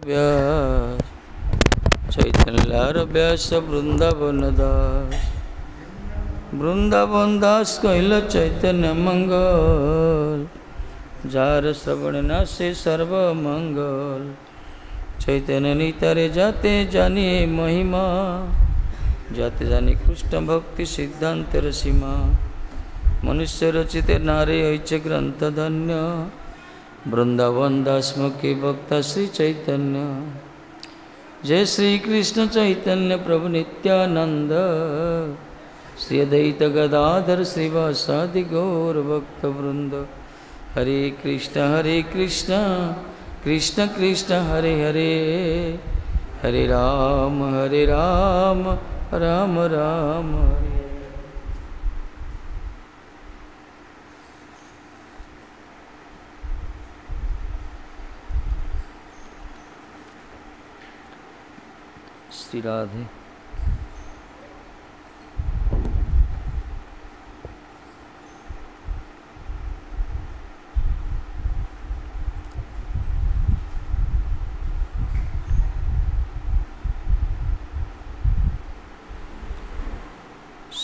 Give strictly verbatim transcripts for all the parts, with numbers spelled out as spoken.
ବ୍ୟାସ, ଚୈତନ୍ୟର ବ୍ୟାସ ବୃନ୍ଦାବନ ଦାସ। ବୃନ୍ଦାବନ ଦାସ କହିଲ ଚୈତନ୍ୟ ମଙ୍ଗଲ, ଯାର ଶ୍ରବଣ ନାଶେ ସର୍ବ ମଙ୍ଗଲ। ଚୈତନ୍ୟ ନିତାରେ ଯାତେ ଜାନିଏ ମହିମା, ଯାତେ ଜାନି କୃଷ୍ଣ ଭକ୍ତି ସିଦ୍ଧାନ୍ତର ସୀମା। ମନୁଷ୍ୟ ରଚିତ ନାରେ ହୋଇছে ଗ୍ରନ୍ଥ ଧନ୍ୟ, ବୃନ୍ଦାବନ ଦାସ ମୁଖୀ ବକ୍ତା ଶ୍ରୀ ଚୈତନ୍ୟ। ଜୟ ଶ୍ରୀ କୃଷ୍ଣ ଚୈତନ୍ୟ ପ୍ରଭୁ ନିତ୍ୟାନନ୍ଦ, ଶ୍ରୀ ଅଦ୍ୱୈତ ଗଦାଧର ଶ୍ରୀବାସାଦି ଗୌର ଭକ୍ତ ବୃନ୍ଦ। ହରେ କୃଷ୍ଣ ହରେ କୃଷ୍ଣ କୃଷ୍ଣ କୃଷ୍ଣ ହରେ ହରେ, ହରେ ରାମ ହରେ ରାମ ରାମ ରାମ ହରେ। ଶ୍ରୀ ରାଧେ।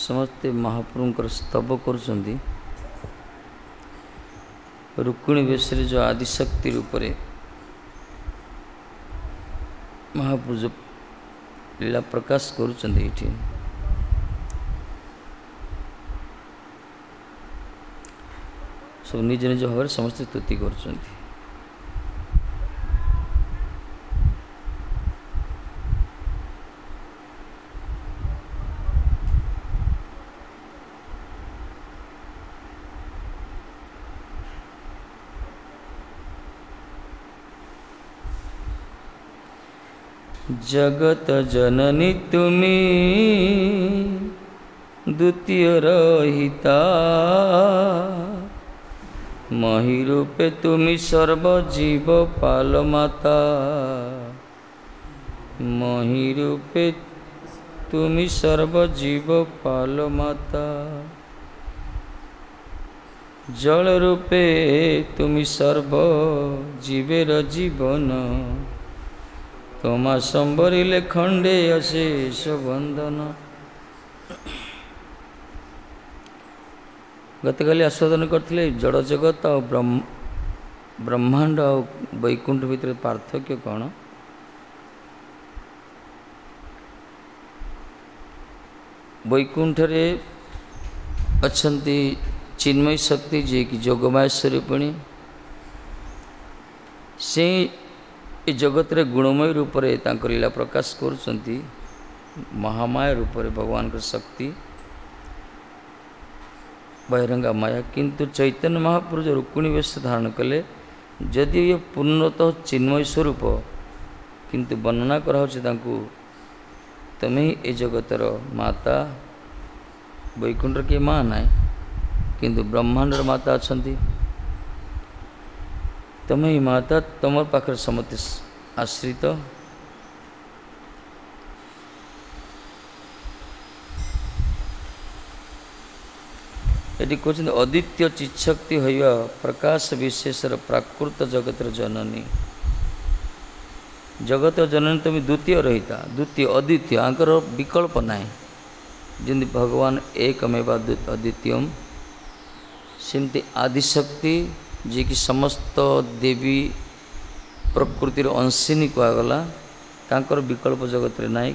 ସମସ୍ତେ ମହାପ୍ରଭୁଙ୍କର ସ୍ତବ କରୁଛନ୍ତି। ରୁକ୍ମିଣୀ ବେଶରେ ଯେଉଁ ଆଦିଶକ୍ତି ରୂପରେ ମହାପ୍ରଭୁ ଯେଉଁ ଲୀଳା ପ୍ରକାଶ କରୁଛନ୍ତି ଏଇଠି, ସବୁ ନିଜ ନିଜ ଭାବରେ ସମସ୍ତେ ସ୍ତୁତି କରୁଛନ୍ତି। ଜଗତ ଜନନୀ ତୁମି ଦ୍ୱିତୀୟ ରହିତା, ମହି ରୂପେ ତୁମି ସର୍ବଜୀବ ପାଲ ମାତା। ମହି ରୂପେ ତୁମି ସର୍ବଜୀବ ପାଲ ମାତା। ଜଳ ରୂପେ ତୁମି ସର୍ବ ଜୀବେର ଜୀବନ, তোমা সম্বরিলে খণ্ডে অশেষ ବନ୍ଦନ। ଗତକାଲି ଆସ୍ୱାଦନ କରିଥିଲେ ଜଡ଼ ଜଗତ ଆଉ ବ୍ରହ୍ମାଣ୍ଡ ଆଉ ବୈକୁଣ୍ଠ ଭିତରେ ପାର୍ଥକ୍ୟ କ'ଣ। ବୈକୁଣ୍ଠରେ ଅଛନ୍ତି ଚିନ୍ମୟ ଶକ୍ତି, ଯିଏକି ଯୋଗମାୟା ସ୍ୱରୂପିଣୀ। ସେ ଏ ଜଗତରେ ଗୁଣମୟ ରୂପରେ ତାଙ୍କ ଲୀଳା ପ୍ରକାଶ କରୁଛନ୍ତି, ମହାମାୟା ରୂପରେ ଭଗବାନଙ୍କ ଶକ୍ତି ବହିରଙ୍ଗା ମାୟା। କିନ୍ତୁ ଚୈତନ୍ୟ ମହାପ୍ରଭୁ ଯେଉଁ ରୁକ୍ମିଣୀ ବେଶ ଧାରଣ କଲେ, ଯଦି ଇଏ ପୂର୍ଣ୍ଣତଃ ଚିନ୍ମୟ ସ୍ୱରୂପ, କିନ୍ତୁ ବର୍ଣ୍ଣନା କରାହେଉଛି ତାଙ୍କୁ ତୁମେ ହିଁ ଏ ଜଗତର ମାତା। ବୈକୁଣ୍ଠର କିଏ ମା ନାହିଁ, କିନ୍ତୁ ବ୍ରହ୍ମାଣ୍ଡର ମାତା ଅଛନ୍ତି। ତୁମେ ହିଁ ମାତା, ତୁମର ପାଖରେ ସମସ୍ତେ ଆଶ୍ରିତ। ଏଠି କହୁଛନ୍ତି ଅଦ୍ୱିତୀୟ ଚିତ୍ଶକ୍ତି ହୋଇବା ପ୍ରକାଶ ବିଶେଷର ପ୍ରାକୃତ ଜଗତର ଜନନୀ। ଜଗତ ଜନନୀ ତୁମେ ଦ୍ୱିତୀୟ ରହିତା, ଦ୍ୱିତୀୟ ଅଦ୍ୱିତୀୟ, ଆଙ୍କର ବିକଳ୍ପ ନାହିଁ। ଯେମିତି ଭଗବାନ ଏକମେବା ଅଦ୍ୱିତୀୟମ୍, ସେମିତି ଆଦିଶକ୍ତି ଯିଏକି ସମସ୍ତ ଦେବୀ ପ୍ରକୃତିର ଅଂଶିନୀ କୁହାଗଲା, ତାଙ୍କର ବିକଳ୍ପ ଜଗତରେ ନାହିଁ।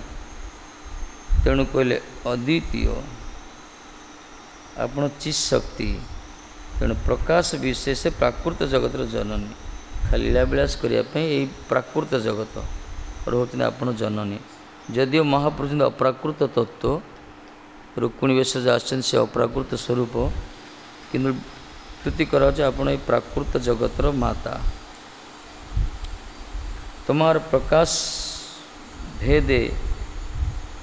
ତେଣୁ କହିଲେ ଅଦ୍ୱିତୀୟ ଆପଣ ଚିତ୍ ଶକ୍ତି। ତେଣୁ ପ୍ରକାଶ ବିଶେଷ ପ୍ରାକୃତ ଜଗତର ଜନନୀ। ଖାଲି ଲୀଳାବିଳାସ କରିବା ପାଇଁ ଏଇ ପ୍ରାକୃତ ଜଗତ ରହୁଛନ୍ତି ଆପଣ ଜନନୀ। ଯଦିଓ ମହାପୁରୁଷ ଅପ୍ରାକୃତ ତତ୍ତ୍ୱ, ରୁକ୍ମିଣୀ ବେଶ ଯେଉଁ ଆସିଛନ୍ତି ସେ ଅପ୍ରାକୃତ ସ୍ୱରୂପ, କିନ୍ତୁ ସ୍ତୁତି କରାଯାଉଛି ଆପଣ ଏଇ ପ୍ରାକୃତ ଜଗତର ମାତା। ତୁମର ପ୍ରକାଶ ଭେଦେ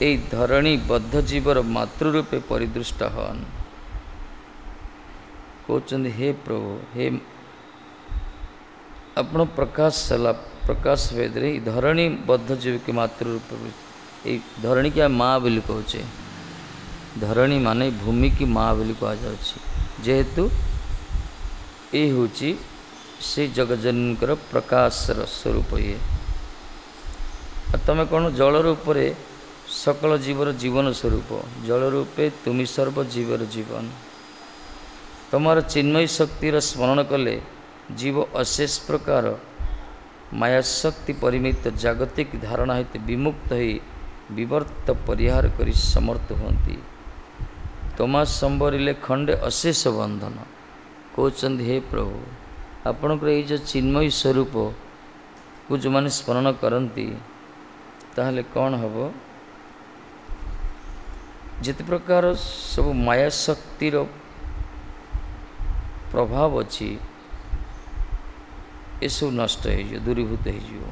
ଏଇ ଧରଣୀ ବଦ୍ଧ ଜୀବର ମାତୃରୂପେ ପରିଦୃଷ୍ଟ ହନ୍। କହୁଛନ୍ତି ହେ ପ୍ରଭୁ, ହେ ଆପଣ ପ୍ରକାଶ ହେଲା ପ୍ରକାଶ ଭେଦରେ ଏଇ ଧରଣୀ ବଦ୍ଧ ଜୀବକି ମାତୃରୂପେ। ଏଇ ଧରଣୀକି ଆମେ ମା ବୋଲି କହୁଛେ। ଧରଣୀ ମାନେ ଭୂମିକି ମା ବୋଲି କୁହାଯାଉଛି, ଯେହେତୁ ଏ ହେଉଛି ସେ ଜଗଜନନୀଙ୍କର ପ୍ରକାଶର ସ୍ୱରୂପ। ଇଏ ତୁମେ କ'ଣ ଜଳ ରୂପରେ ସକଳ ଜୀବର ଜୀବନ ସ୍ୱରୂପ। ଜଳ ରୂପେ ତୁମି ସର୍ବ ଜୀବର ଜୀବନ। ତୁମର ଚିନ୍ମୟୀ ଶକ୍ତିର ସ୍ମରଣ କଲେ ଜୀବ ଅଶେଷ ପ୍ରକାର ମାୟାଶକ୍ତି ପରିମିତ ଜାଗତିକ ଧାରଣା ହେତୁ ବିମୁକ୍ତ ହୋଇ ବିବର୍ତ୍ତ ପରିହାର କରି ସମର୍ଥ ହୁଅନ୍ତି। ତମା ସମ୍ବରିଲେ ଖଣ୍ଡେ ଅଶେଷ ବନ୍ଧନ। କହୁଛନ୍ତି ହେ ପ୍ରଭୁ, ଆପଣଙ୍କର ଏଇ ଯେଉଁ ଚିନ୍ମୟୀ ସ୍ୱରୂପକୁ ଯେଉଁମାନେ ସ୍ମରଣ କରନ୍ତି ତାହେଲେ କ'ଣ ହେବ? ଯେତେ ପ୍ରକାର ସବୁ ମାୟାଶକ୍ତିର ପ୍ରଭାବ ଅଛି ଏସବୁ ନଷ୍ଟ ହେଇଯିବ, ଦୂରୀଭୂତ ହେଇଯିବ।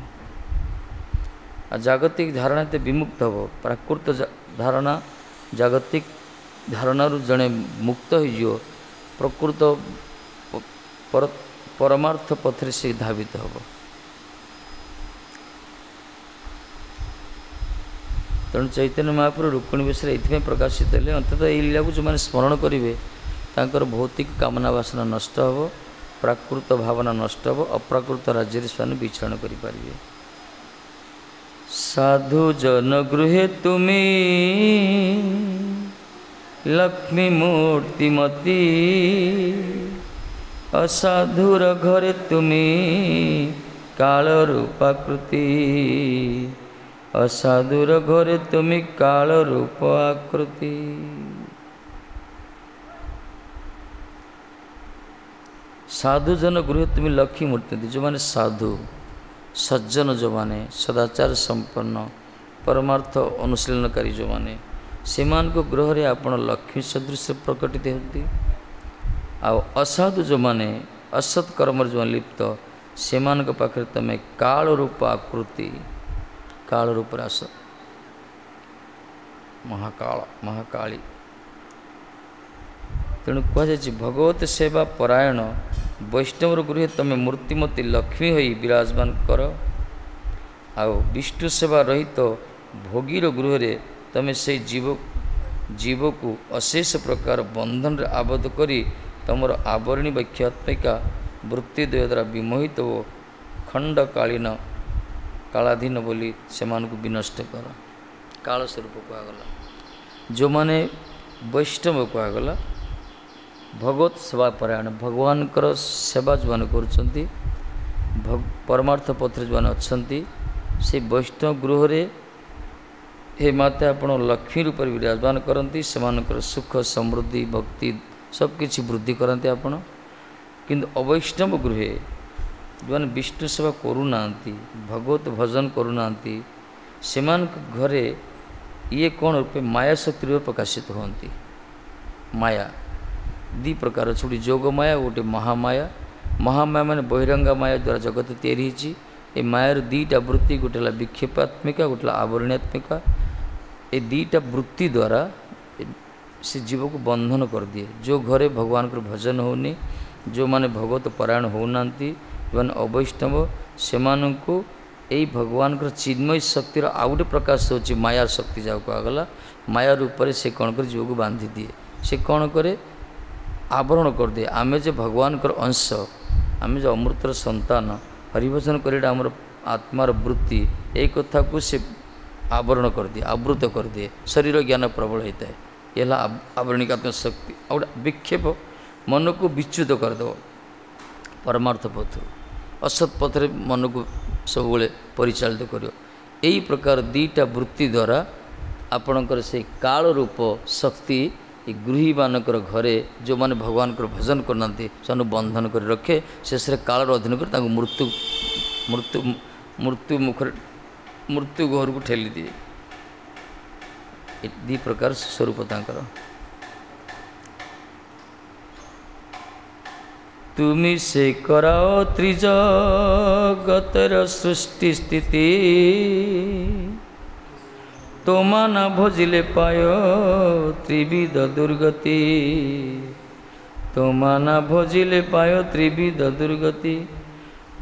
ଆଉ ଜାଗତିକ ଧାରଣା ଏତେ ବିମୁକ୍ତ ହେବ। ପ୍ରାକୃତ ଧାରଣା ଜାଗତିକ ଧାରଣାରୁ ଜଣେ ମୁକ୍ତ ହେଇଯିବ, ପ୍ରକୃତ ପରମାର୍ଥ ପଥରେ ସେ ଧାବିତ ହେବ। ତେଣୁ ଚୈତନ୍ୟ ମହାପ୍ରଭୁ ରୁକ୍ମିଣୀ ବେଶରେ ଏଇଥିପାଇଁ ପ୍ରକାଶିତ ହେଲେ। ଅନ୍ତତଃ ଏଇ ଲୀଳାକୁ ଯେଉଁମାନେ ସ୍ମରଣ କରିବେ ତାଙ୍କର ଭୌତିକ କାମନା ବାସନା ନଷ୍ଟ ହେବ, ପ୍ରାକୃତ ଭାବନା ନଷ୍ଟ ହେବ, ଅପ୍ରାକୃତ ରାଜ୍ୟରେ ସେମାନେ ବିଚରଣ କରିପାରିବେ। ସାଧୁ ଜନ ଗୃହେ ତୁମି ଲକ୍ଷ୍ମୀ ମୂର୍ତ୍ତିମତୀ, ଅସାଧୁର ଘରେ ତୁମି କାଳ ରୂପାକୃତି। ଅସାଧୁର ଘରେ ତୁମି କାଳ ରୂପ ଆକୃତି। ସାଧୁଜନ ଗୃହେ ତୁମି ଲକ୍ଷ୍ମୀ ମୂର୍ତ୍ତି। ଯେଉଁମାନେ ସାଧୁ ସଜ୍ଜନ, ଯେଉଁମାନେ ସଦାଚାର ସମ୍ପନ୍ନ ପରମାର୍ଥ ଅନୁଶୀଳନକାରୀ ଯେଉଁମାନେ, ସେମାନଙ୍କ ଗୃହରେ ଆପଣ ଲକ୍ଷ୍ମୀ ସଦୃଶ ପ୍ରକଟିତ ହୁଅନ୍ତି। ଆଉ ଅସାଧୁ ଯେଉଁମାନେ ଅସତ୍ କର୍ମରେ ଯେଉଁମାନେ ଲିପ୍ତ, ସେମାନଙ୍କ ପାଖରେ ତୁମେ କାଳ ରୂପ ଆକୃତି, କାଳ ରୂପରେ ଆସ, ମହାକାଳ ମହାକାଳୀ। ତେଣୁ କୁହାଯାଇଛି ଭଗବତ ସେବା ପରାୟଣ ବୈଷ୍ଣବର ଗୃହେ ତୁମେ ମୂର୍ତ୍ତିମତୀ ଲକ୍ଷ୍ମୀ ହୋଇ ବିରାଜମାନ କର। ଆଉ ବିଷ୍ଣୁ ସେବା ରହିତ ଭୋଗୀର ଗୃହରେ ତୁମେ ସେଇ ଜୀବ ଜୀବକୁ ଅଶେଷ ପ୍ରକାର ବନ୍ଧନରେ ଆବଦ୍ଧ କରି ତୁମର ଆବରଣୀ ବକ୍ଷାତ୍ମିକା ବୃତ୍ତି ଦ୍ୱୟ ଦ୍ୱାରା ବିମୋହିତ ଓ ଖଣ୍ଡକାଳୀନ କାଳାଧୀନ ବୋଲି ସେମାନଙ୍କୁ ବିନଷ୍ଟ କର। କାଳ ସ୍ୱରୂପ କୁହାଗଲା। ଯେଉଁମାନେ ବୈଷ୍ଣବ କୁହାଗଲା, ଭଗବତ ସେବା ପରାୟଣ, ଭଗବାନଙ୍କର ସେବା ଯେଉଁମାନେ କରୁଛନ୍ତି, ପରମାର୍ଥ ପଥରେ ଯେଉଁମାନେ ଅଛନ୍ତି, ସେ ବୈଷ୍ଣବ ଗୃହରେ ହେ ମାତା ଆପଣ ଲକ୍ଷ୍ମୀ ରୂପରେ ବିରାଜମାନ କରନ୍ତି। ସେମାନଙ୍କର ସୁଖ ସମୃଦ୍ଧି ଭକ୍ତି ସବୁକିଛି ବୃଦ୍ଧି କରନ୍ତି ଆପଣ। କିନ୍ତୁ ଅବୈଷ୍ଣବ ଗୃହେ ଯେଉଁମାନେ ବିଷ୍ଣୁ ସେବା କରୁନାହାନ୍ତି, ଭଗବତ ଭଜନ କରୁନାହାନ୍ତି, ସେମାନଙ୍କ ଘରେ ଇଏ କ'ଣ ରୂପେ ମାୟା ଶକ୍ତି ରୂପେ ପ୍ରକାଶିତ ହୁଅନ୍ତି। ମାୟା ଦୁଇ ପ୍ରକାର ଅଛି, ଗୋଟେ ଯୋଗ ମାୟା, ଗୋଟେ ମହାମାୟା। ମହାମାୟା ମାନେ ବହିରଙ୍ଗା ମାୟା ଦ୍ୱାରା ଜଗତ ତିଆରି ହେଇଛି। ଏ ମାୟାର ଦୁଇଟା ବୃତ୍ତି, ଗୋଟେ ହେଲା ବିକ୍ଷେପାତ୍ମିକା, ଗୋଟେ ହେଲା ଆବରଣାତ୍ମିକା। ଏ ଦୁଇଟା ବୃତ୍ତି ଦ୍ୱାରା ସେ ଜୀବକୁ ବନ୍ଧନ କରିଦିଏ। ଯେଉଁ ଘରେ ଭଗବାନଙ୍କର ଭଜନ ହେଉନି, ଯେଉଁମାନେ ଭଗବତ ପରାୟଣ ହେଉନାହାନ୍ତି, ଯେଉଁମାନେ ଅବୈଷ୍ଣବ, ସେମାନଙ୍କୁ ଏଇ ଭଗବାନଙ୍କର ଚିନ୍ମୟୀ ଶକ୍ତିର ଆଉ ଗୋଟେ ପ୍ରକାଶ ହେଉଛି ମାୟା ଶକ୍ତି, ଯାହାକୁ କୁହାଗଲା। ମାୟା ରୂପରେ ସେ କ'ଣ କରେ? ଜୀବକୁ ବାନ୍ଧି ଦିଏ। ସେ କ'ଣ କରେ? ଆବରଣ କରିଦିଏ। ଆମେ ଯେ ଭଗବାନଙ୍କର ଅଂଶ, ଆମେ ଯେ ଅମୃତର ସନ୍ତାନ, ହରିଭଜନ କରିବାଟା ଆମର ଆତ୍ମାର ବୃତ୍ତି, ଏଇ କଥାକୁ ସେ ଆବରଣ କରିଦିଏ, ଆବୃତ କରିଦିଏ। ଶରୀର ଜ୍ଞାନ ପ୍ରବଳ ହେଇଥାଏ। ଏ ହେଲା ଆବରଣିକାତ୍ମକ ଶକ୍ତି। ଆଉ ଗୋଟେ ବିକ୍ଷେପ, ମନକୁ ବିଚ୍ୟୁତ କରିଦେବ ପରମାର୍ଥ ପଥରୁ, ଅସତ୍ ପଥରେ ମନକୁ ସବୁବେଳେ ପରିଚାଳିତ କରିବ। ଏଇ ପ୍ରକାର ଦୁଇଟା ବୃତ୍ତି ଦ୍ୱାରା ଆପଣଙ୍କର ସେଇ କାଳ ରୂପ ଶକ୍ତି ଏ ଗୃହୀମାନଙ୍କର ଘରେ ଯେଉଁମାନେ ଭଗବାନଙ୍କର ଭଜନ କରୁନାହାନ୍ତି ସେମାନଙ୍କୁ ବନ୍ଧନ କରି ରଖେ। ଶେଷରେ କାଳର ଅଧୀନ କରି ତାଙ୍କୁ ମୃତ୍ୟୁ ମୃତ୍ୟୁ ମୃତ୍ୟୁ ମୁଖରେ ମୃତ୍ୟୁ ଘରକୁ ଠେଲିଦିଏ। ଏ ଦୁଇ ପ୍ରକାର ସ୍ୱରୂପ ତାଙ୍କର। ତୁମି ସେ କରାଅ ତ୍ରିଜଗତର ସୃଷ୍ଟି ସ୍ଥିତି, তোমা না ভজিলে পায় ত্রিবিধ দুর্গতি। তোমা না ভজিলে পায় ত্রিবিধ দুর্গতি।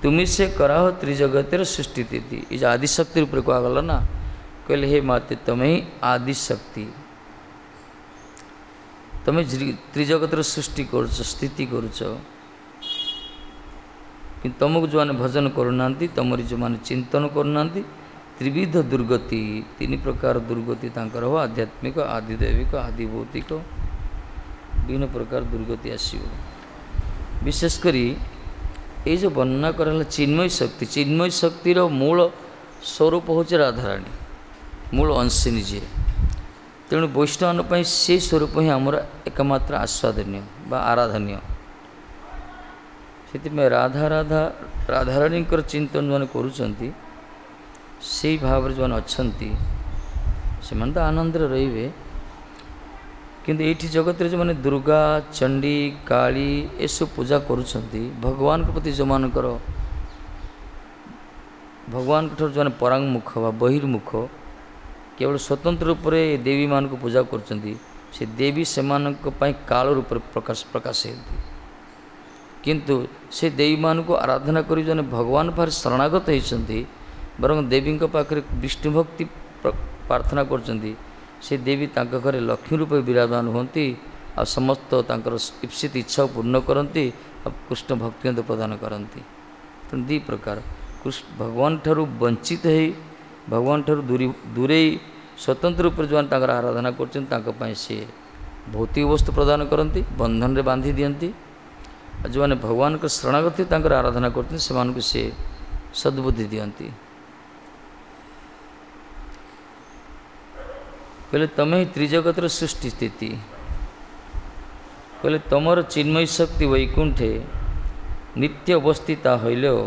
তুমি ସେ କରାହ ତ୍ରିଜଗତର ସୃଷ୍ଟି ସ୍ଥିତି। ଏ ଯେଉଁ ଆଦିଶକ୍ତି ରୂପରେ କୁହାଗଲା ନା, କହିଲେ ହେ ମାତେ ତମେ ହିଁ ଆଦିଶକ୍ତି, ତମେ ତ୍ରିଜଗତର ସୃଷ୍ଟି କରୁଛ, ସ୍ଥିତି କରୁଛ। କିନ୍ତୁ ତୁମକୁ ଯେଉଁମାନେ ଭଜନ କରୁନାହାନ୍ତି, ତୁମରି ଯେଉଁମାନେ ଚିନ୍ତନ କରୁନାହାନ୍ତି, ତ୍ରିବିଧ ଦୁର୍ଗତି, ତିନି ପ୍ରକାର ଦୁର୍ଗତି ତାଙ୍କର ହେବ, ଆଧ୍ୟାତ୍ମିକ, ଆଦିଦୈବିକ, ଆଦି ଭୌତିକ, ବିଭିନ୍ନ ପ୍ରକାର ଦୁର୍ଗତି ଆସିବ। ବିଶେଷ କରି ଏଇ ଯେଉଁ ବର୍ଣ୍ଣନା କରାହେଲା ଚିନ୍ମୟ ଶକ୍ତି, ଚିନ୍ମୟ ଶକ୍ତିର ମୂଳ ସ୍ୱରୂପ ହେଉଛି ରାଧାରାଣୀ, ମୂଳ ଅଂଶିନୀ ଯିଏ। ତେଣୁ ବୈଷ୍ଣବଙ୍କ ପାଇଁ ସେଇ ସ୍ୱରୂପ ହିଁ ଆମର ଏକମାତ୍ର ଆସ୍ୱାଦନୀୟ ବା ଆରାଧନୀୟ। ସେଥିପାଇଁ ରାଧା ରାଧା ରାଧାରାଣୀଙ୍କର ଚିନ୍ତନ ଯେଉଁମାନେ କରୁଛନ୍ତି, ସେଇ ଭାବରେ ଯେଉଁମାନେ ଅଛନ୍ତି ସେମାନେ ତ ଆନନ୍ଦରେ ରହିବେ। କିନ୍ତୁ ଏଇଠି ଜଗତରେ ଯେଉଁମାନେ ଦୁର୍ଗା, ଚଣ୍ଡୀ, କାଳୀ ଏସବୁ ପୂଜା କରୁଛନ୍ତି, ଭଗବାନଙ୍କ ପ୍ରତି ଯେଉଁମାନଙ୍କର ଭଗବାନଙ୍କ ଠାରୁ ଯେଉଁମାନେ ପରାଙ୍ଗୁଖ ବା ବହିର୍ମୁଖ, କେବଳ ସ୍ୱତନ୍ତ୍ର ରୂପରେ ଏ ଦେବୀମାନଙ୍କୁ ପୂଜା କରୁଛନ୍ତି, ସେ ଦେବୀ ସେମାନଙ୍କ ପାଇଁ କାଳ ରୂପରେ ପ୍ରକାଶ ପ୍ରକାଶ ହେନ୍ତି। କିନ୍ତୁ ସେ ଦେବୀମାନଙ୍କୁ ଆରାଧନା କରି ଯେଉଁମାନେ ଭଗବାନ ପାଖରେ ଶରଣାଗତ ହେଇଛନ୍ତି, ବରଂ ଦେବୀଙ୍କ ପାଖରେ ବିଷ୍ଣୁ ଭକ୍ତି ପ୍ରାର୍ଥନା କରୁଛନ୍ତି, ସେ ଦେବୀ ତାଙ୍କ ଘରେ ଲକ୍ଷ୍ମୀ ରୂପେ ବିରାଜମାନ ହୁଅନ୍ତି ଆଉ ସମସ୍ତ ତାଙ୍କର ଇପ୍ସିତ ଇଚ୍ଛାକୁ ପୂର୍ଣ୍ଣ କରନ୍ତି ଆଉ କୃଷ୍ଣ ଭକ୍ତି ପ୍ରଦାନ କରନ୍ତି। ତେଣୁ ଦୁଇ ପ୍ରକାର କୃଷ୍ଣ ଭଗବାନ ଠାରୁ ବଞ୍ଚିତ ହେଇ, ଭଗବାନ ଠାରୁ ଦୂରୀ ଦୂରେଇ ସ୍ୱତନ୍ତ୍ର ରୂପରେ ଯେଉଁମାନେ ତାଙ୍କର ଆରାଧନା କରୁଛନ୍ତି, ତାଙ୍କ ପାଇଁ ସିଏ ଭୌତିକ ବସ୍ତୁ ପ୍ରଦାନ କରନ୍ତି, ବନ୍ଧନରେ ବାନ୍ଧି ଦିଅନ୍ତି। ଆଉ ଯେଉଁମାନେ ଭଗବାନଙ୍କ ଶରଣାଗତି ତାଙ୍କର ଆରାଧନା କରୁଛନ୍ତି, ସେମାନଙ୍କୁ ସିଏ ସଦ୍ବୁଦ୍ଧି ଦିଅନ୍ତି। କହିଲେ ତମେ ହିଁ ତ୍ରିଜଗତର ସୃଷ୍ଟି ସ୍ଥିତି। କହିଲେ ତମର ଚିନ୍ମୟ ଶକ୍ତି ବୈକୁଣ୍ଠେ ନିତ୍ୟ ଅବସ୍ଥିତା ହଇଲେଓ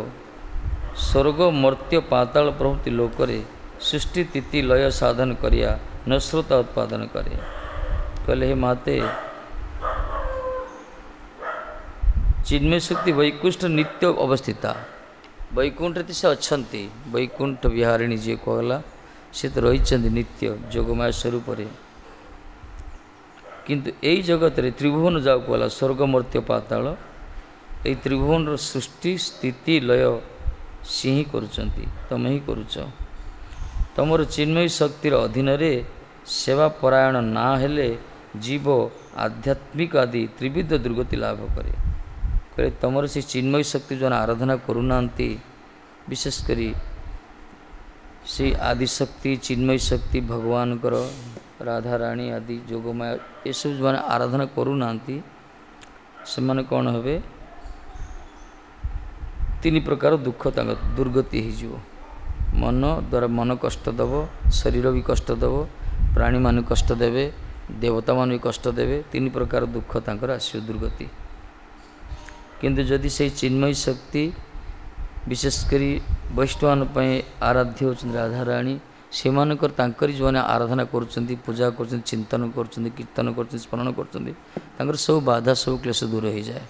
ସ୍ୱର୍ଗ ମର୍ତ୍ତ୍ୟ ପାତାଳ ପ୍ରଭୃତି ଲୋକରେ ସୃଷ୍ଟି ସ୍ଥିତି ଲୟ ସାଧନ କରିବା ନଶ୍ରତା ଉତ୍ପାଦନ କରେ। କହିଲେ ହେ ମାତେ, ଚିନ୍ମୟ ଶକ୍ତି ବୈକୁଣ୍ଠ ନିତ୍ୟ ଅବସ୍ଥିତା, ବୈକୁଣ୍ଠରେ ତ ସେ ଅଛନ୍ତି, ବୈକୁଣ୍ଠ ବିହାରିଣୀ ଯିଏ କୁହାଗଲା ସେ ତ ରହିଛନ୍ତି ନିତ୍ୟ ଯୋଗମାୟା ସ୍ୱରୂପରେ। କିନ୍ତୁ ଏଇ ଜଗତରେ ତ୍ରିଭୁବନ ଯାହାକୁ କୁହାଗଲା ସ୍ୱର୍ଗ ମର୍ତ୍ତ୍ୟ ପାତାଳ, ଏଇ ତ୍ରିଭୁବନର ସୃଷ୍ଟି ସ୍ଥିତି ଲୟ ସିଏ ହିଁ କରୁଛନ୍ତି, ତମେ ହିଁ କରୁଛ। ତମର ଚିନ୍ମୟ ଶକ୍ତିର ଅଧୀନରେ ସେବା ପରାୟଣ ନା ହେଲେ ଜୀବ ଆଧ୍ୟାତ୍ମିକ ଆଦି ତ୍ରିବିଧ ଦୁର୍ଗତି ଲାଭ କରେ। କହିଲେ ତମର ସେ ଚିନ୍ମୟ ଶକ୍ତି ଯେଉଁମାନେ ଆରାଧନା କରୁନାହାନ୍ତି, ବିଶେଷ କରି ସେଇ ଆଦିଶକ୍ତି ଚିନ୍ମୟ ଶକ୍ତି ଭଗବାନଙ୍କର ରାଧାରାଣୀ ଆଦି ଯୋଗମାୟା ଏସବୁ ଯେଉଁମାନେ ଆରାଧନା କରୁନାହାନ୍ତି, ସେମାନେ କ'ଣ ହେବେ? ତିନି ପ୍ରକାର ଦୁଃଖ ତାଙ୍କ ଦୁର୍ଗତି ହେଇଯିବ। ମନ ଦ୍ୱାରା ମନ କଷ୍ଟ ଦେବ, ଶରୀର ବି କଷ୍ଟ ଦେବ, ପ୍ରାଣୀମାନେ କଷ୍ଟ ଦେବେ, ଦେବତାମାନେ ବି କଷ୍ଟ ଦେବେ। ତିନି ପ୍ରକାର ଦୁଃଖ ତାଙ୍କର ଆସିବ ଦୁର୍ଗତି। କିନ୍ତୁ ଯଦି ସେଇ ଚିନ୍ମୟ ଶକ୍ତି ବିଶେଷ କରି ବୈଷ୍ଣବମାନଙ୍କ ପାଇଁ ଆରାଧ୍ୟ ହେଉଛନ୍ତି ରାଧାରାଣୀ, ସେମାନଙ୍କର ତାଙ୍କରି ଯେଉଁମାନେ ଆରାଧନା କରୁଛନ୍ତି, ପୂଜା କରୁଛନ୍ତି, ଚିନ୍ତନ କରୁଛନ୍ତି, କୀର୍ତ୍ତନ କରୁଛନ୍ତି, ସ୍ମରଣ କରୁଛନ୍ତି, ତାଙ୍କର ସବୁ ବାଧା ସବୁ କ୍ଲେଶ ଦୂର ହେଇଯାଏ।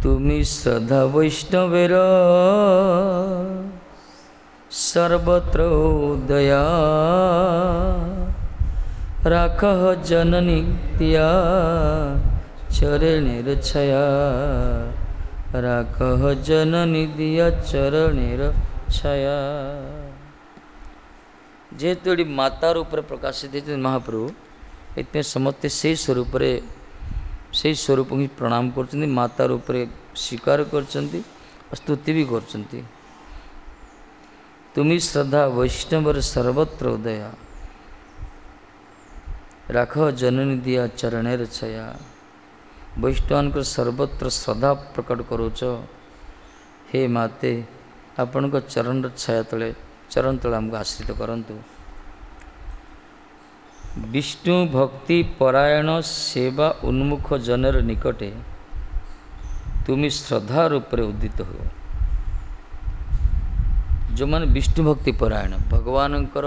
তুমি শ্রদ্ধা বৈষ্ণবের সর্বত্র দয়া, রাখহ জননী দিয়া চরণের ছায়া, রাখহ জননী দিয়া চরণের ছায়া। ଯେହେତୁ ଏଠି ମାତା ରୂପରେ ପ୍ରକାଶିତ ହେଇଛନ୍ତି ମହାପ୍ରଭୁ, ଏଥିପାଇଁ ସମସ୍ତେ ସେଇ ସ୍ୱରୂପରେ ସେଇ ସ୍ୱରୂପଙ୍କୁ ହିଁ ପ୍ରଣାମ କରୁଛନ୍ତି, ମାତା ରୂପରେ ସ୍ୱୀକାର କରିଛନ୍ତି ଆଉ ସ୍ତୁତି ବି କରୁଛନ୍ତି। ତୁମି ଶ୍ରଦ୍ଧା ବୈଷ୍ଣବର ସର୍ବତ୍ର ଉଦୟା, ରାଖ ଜନନୀ ଦିଆ ଚରଣେର ଛାୟା। ବୈଷ୍ଣବଙ୍କର ସର୍ବତ୍ର ଶ୍ରଦ୍ଧା ପ୍ରକଟ କରୁଛ ହେ ମାତେ, ଆପଣଙ୍କ ଚରଣର ଛାୟା ତଳେ ଚରଣ ତଳେ ଆମକୁ ଆଶ୍ରିତ କରନ୍ତୁ। ବିଷ୍ଣୁ ଭକ୍ତି ପରାୟଣ ସେବା ଉନ୍ମୁଖ ଜନର ନିକଟେ ତୁମି ଶ୍ରଦ୍ଧା ରୂପରେ ଉଦିତ ହୁଅ। ଯେଉଁମାନେ ବିଷ୍ଣୁ ଭକ୍ତି ପରାୟଣ, ଭଗବାନଙ୍କର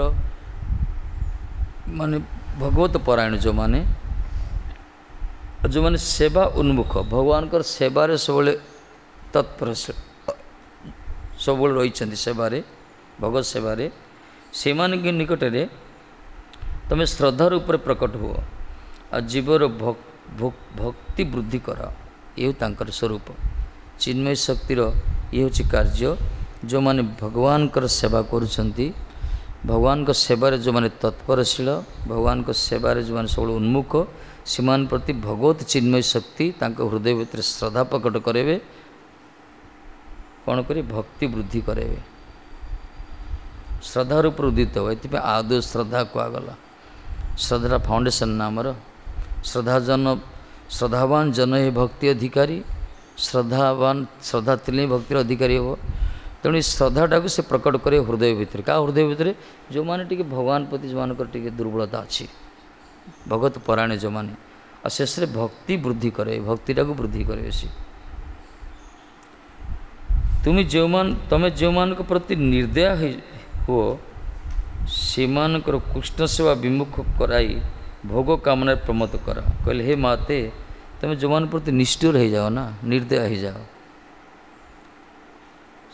ମାନେ ଭଗବତ ପରାୟଣ ଯେଉଁମାନେ, ଯେଉଁମାନେ ସେବା ଉନ୍ମୁଖ, ଭଗବାନଙ୍କର ସେବାରେ ସବୁବେଳେ ତତ୍ପର, ସବୁବେଳେ ରହିଛନ୍ତି ସେବାରେ, ଭଗବତ ସେବାରେ, ସେମାନଙ୍କ ନିକଟରେ ତୁମେ ଶ୍ରଦ୍ଧା ରୂପରେ ପ୍ରକଟ ହୁଅ ଆଉ ଜୀବର ଭକ୍ତି ବୃଦ୍ଧି କର। ଏ ତାଙ୍କର ସ୍ୱରୂପ ଚିନ୍ମୟ ଶକ୍ତିର ଇଏ ହେଉଛି କାର୍ଯ୍ୟ। ଯେଉଁମାନେ ଭଗବାନଙ୍କର ସେବା କରୁଛନ୍ତି, ଭଗବାନଙ୍କ ସେବାରେ ଯେଉଁମାନେ ତତ୍ପରଶୀଳ, ଭଗବାନଙ୍କ ସେବାରେ ଯେଉଁମାନେ ସବୁବେଳେ ଉନ୍ମୁଖ, ସେମାନଙ୍କ ପ୍ରତି ଭଗବତ ଚିନ୍ମୟ ଶକ୍ତି ତାଙ୍କ ହୃଦୟ ଭିତରେ ଶ୍ରଦ୍ଧା ପ୍ରକଟ କରାଇବେ। କ'ଣ କରି? ଭକ୍ତି ବୃଦ୍ଧି କରାଇବେ। ଶ୍ରଦ୍ଧା ରୂପରେ ଉଦିତ ହେବ। ଏଥିପାଇଁ ଆଦୌ ଶ୍ରଦ୍ଧା କୁହାଗଲା। ଶ୍ରଦ୍ଧାର ଫାଉଣ୍ଡେସନ୍ ନା ଆମର। ଶ୍ରଦ୍ଧାଜନ, ଶ୍ରଦ୍ଧାବାନ ଜନ ହିଁ ଭକ୍ତି ଅଧିକାରୀ। ଶ୍ରଦ୍ଧାବାନ, ଶ୍ରଦ୍ଧା ଥିଲେ ହିଁ ଭକ୍ତିର ଅଧିକାରୀ ହେବ। ତେଣୁ ଏ ଶ୍ରଦ୍ଧାଟାକୁ ସେ ପ୍ରକଟ କରିବେ ହୃଦୟ ଭିତରେ। କାହା ହୃଦୟ ଭିତରେ? ଯେଉଁମାନେ ଟିକେ ଭଗବାନ ପ୍ରତି ଯେଉଁମାନଙ୍କର ଟିକେ ଦୁର୍ବଳତା ଅଛି, ଭଗବତ ପରାୟଣ ଯେଉଁମାନେ। ଆଉ ଶେଷରେ ଭକ୍ତି ବୃଦ୍ଧି କରେ, ଭକ୍ତିଟାକୁ ବୃଦ୍ଧି କରିବେ ସେ। ତୁମେ ଯେଉଁମାନ ତମେ ଯେଉଁମାନଙ୍କ ପ୍ରତି ନିର୍ଦ୍ଦୟ ହେଇ ହୁଅ, ସେମାନଙ୍କର କୃଷ୍ଣ ସେବା ବିମୁଖ କରାଇ ଭୋଗ କାମନାରେ ପ୍ରମୋଦ କର। କହିଲେ, ହେ ମାତେ, ତୁମେ ଯେଉଁମାନଙ୍କ ପ୍ରତି ନିଷ୍ଠୁର ହେଇଯାଅ ନା, ନିର୍ଦ୍ଦୟ ହେଇଯାଅ,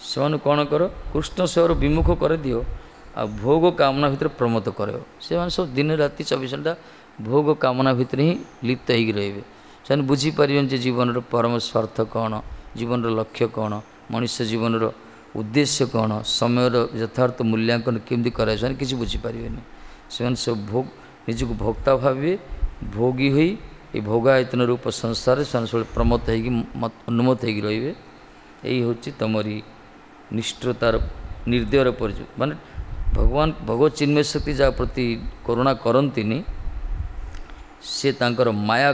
ସେମାନଙ୍କୁ କ'ଣ କର? କୃଷ୍ଣ ସେବାରୁ ବିମୁଖ କରିଦିଅ ଆଉ ଭୋଗ କାମନା ଭିତରେ ପ୍ରମୋଦ କରାଇବ। ସେମାନେ ସବୁ ଦିନ ରାତି ଚବିଶ ଘଣ୍ଟା ଭୋଗ କାମନା ଭିତରେ ହିଁ ଲିପ୍ତ ହେଇକି ରହିବେ। ସେମାନେ ବୁଝିପାରିବେନି ଯେ ଜୀବନର ପରମ ସ୍ୱାର୍ଥ କ'ଣ, ଜୀବନର ଲକ୍ଷ୍ୟ କ'ଣ, ମଣିଷ ଜୀବନର ଉଦ୍ଦେଶ୍ୟ କ'ଣ, ସମୟର ଯଥାର୍ଥ ମୂଲ୍ୟାଙ୍କନ କେମିତି କରାଯାଏ, ସେମାନେ କିଛି ବୁଝିପାରିବେନି। ସେମାନେ ସବୁ ଭୋଗ, ନିଜକୁ ଭୋକ୍ତା ଭାବିବେ, ଭୋଗୀ ହୋଇ ଏ ଭୋଗାୟତନ ରୂପ ସଂସାରରେ ସେମାନେ ସବୁବେଳେ ପ୍ରମତ୍ତ ହେଇକି, ଉନ୍ମତ୍ତ ହେଇକି ରହିବେ। ଏଇ ହେଉଛି ତମରି ନିଷ୍ଠୁରତାର, ନିର୍ଦ୍ଦୟର ପରିଚୟ। ମାନେ ଭଗବାନ ଭଗବତ ଚିନ୍ମୟ ଶକ୍ତି ଯାହା ପ୍ରତି କରୁଣା କରନ୍ତିନି, ସେ ତାଙ୍କର ମାୟା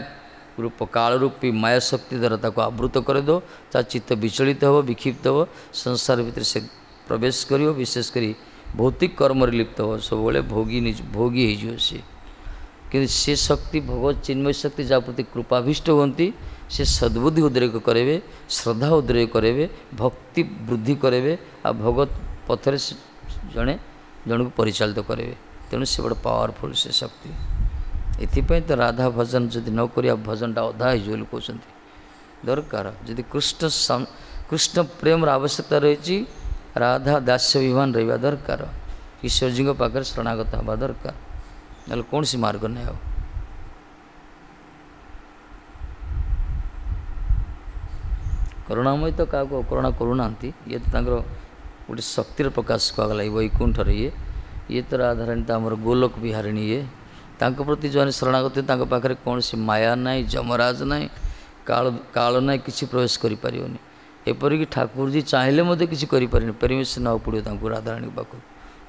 ରୂପ କାଳରୂପୀ ମାୟା ଶକ୍ତି ଦ୍ୱାରା ତାକୁ ଆବୃତ କରିଦେବ। ତା ଚିତ୍ତ ବିଚଳିତ ହେବ, ବିକ୍ଷିପ୍ତ ହେବ, ସଂସାର ଭିତରେ ସେ ପ୍ରବେଶ କରିବ, ବିଶେଷ କରି ଭୌତିକ କର୍ମରେ ଲିପ୍ତ ହେବ, ସବୁବେଳେ ଭୋଗୀ ନିଜ ଭୋଗୀ ହେଇଯିବ ସିଏ। କିନ୍ତୁ ସେ ଶକ୍ତି ଭଗବତ ଚିନ୍ମୟ ଶକ୍ତି ଯାହା ପ୍ରତି କୃପାଭୀଷ୍ଟ ହୁଅନ୍ତି, ସେ ସଦ୍ବୁଦ୍ଧି ଉଦ୍ରେକ କରାଇବେ, ଶ୍ରଦ୍ଧା ଉଦ୍ରେକ କରାଇବେ, ଭକ୍ତି ବୃଦ୍ଧି କରାଇବେ, ଆଉ ଭଗବତ ପଥରେ ଜଣେ ଜଣକୁ ପରିଚାଳିତ କରାଇବେ। ତେଣୁ ସେ ବଡ଼ ପାୱାରଫୁଲ୍ ସେ ଶକ୍ତି। ଏଥିପାଇଁ ତ ରାଧା ଭଜନ ଯଦି ନ କରିବା ଭଜନଟା ଅଧା ହେଇଯିବ ବୋଲି କହୁଛନ୍ତି। ଦରକାର ଯଦି କୃଷ୍ଣ କୃଷ୍ଣ ପ୍ରେମର ଆବଶ୍ୟକତା ରହିଛି, ରାଧା ଦାସ୍ୟ ଅଭିମାନ ରହିବା ଦରକାର, ଈଶ୍ୱରଜୀଙ୍କ ପାଖରେ ଶରଣାଗତ ହେବା ଦରକାର, ନହେଲେ କୌଣସି ମାର୍ଗ ନାହିଁ ଆଉ। କରୁଣାମୟୀ ତ କାହାକୁ ଅକରୁଣା କରୁନାହାନ୍ତି। ଇଏ ତ ତାଙ୍କର ଗୋଟେ ଶକ୍ତିର ପ୍ରକାଶ କୁହାଗଲା ଏଇ ବୈକୁଣ୍ଠରେ। ଇଏ ଇଏ ତ ରାଧାରାଣୀ ତ ଆମର ଗୋଲକ ବିହାରିଣୀ। ଇଏ ତାଙ୍କ ପ୍ରତି ଯେଉଁମାନେ ଶରଣାଗତ, ତାଙ୍କ ପାଖରେ କୌଣସି ମାୟା ନାହିଁ, ଯମରାଜ ନାହିଁ, କାଳ କାଳ ନାହିଁ, କିଛି ପ୍ରବେଶ କରିପାରିବନି। ଏପରିକି ଠାକୁରଜୀ ଚାହିଁଲେ ମଧ୍ୟ କିଛି କରିପାରିବେନି, ପରମିସନ୍ ନେବାକୁ ପଡ଼ିବ ତାଙ୍କୁ ରାଧାରାଣୀଙ୍କ ପାଖକୁ।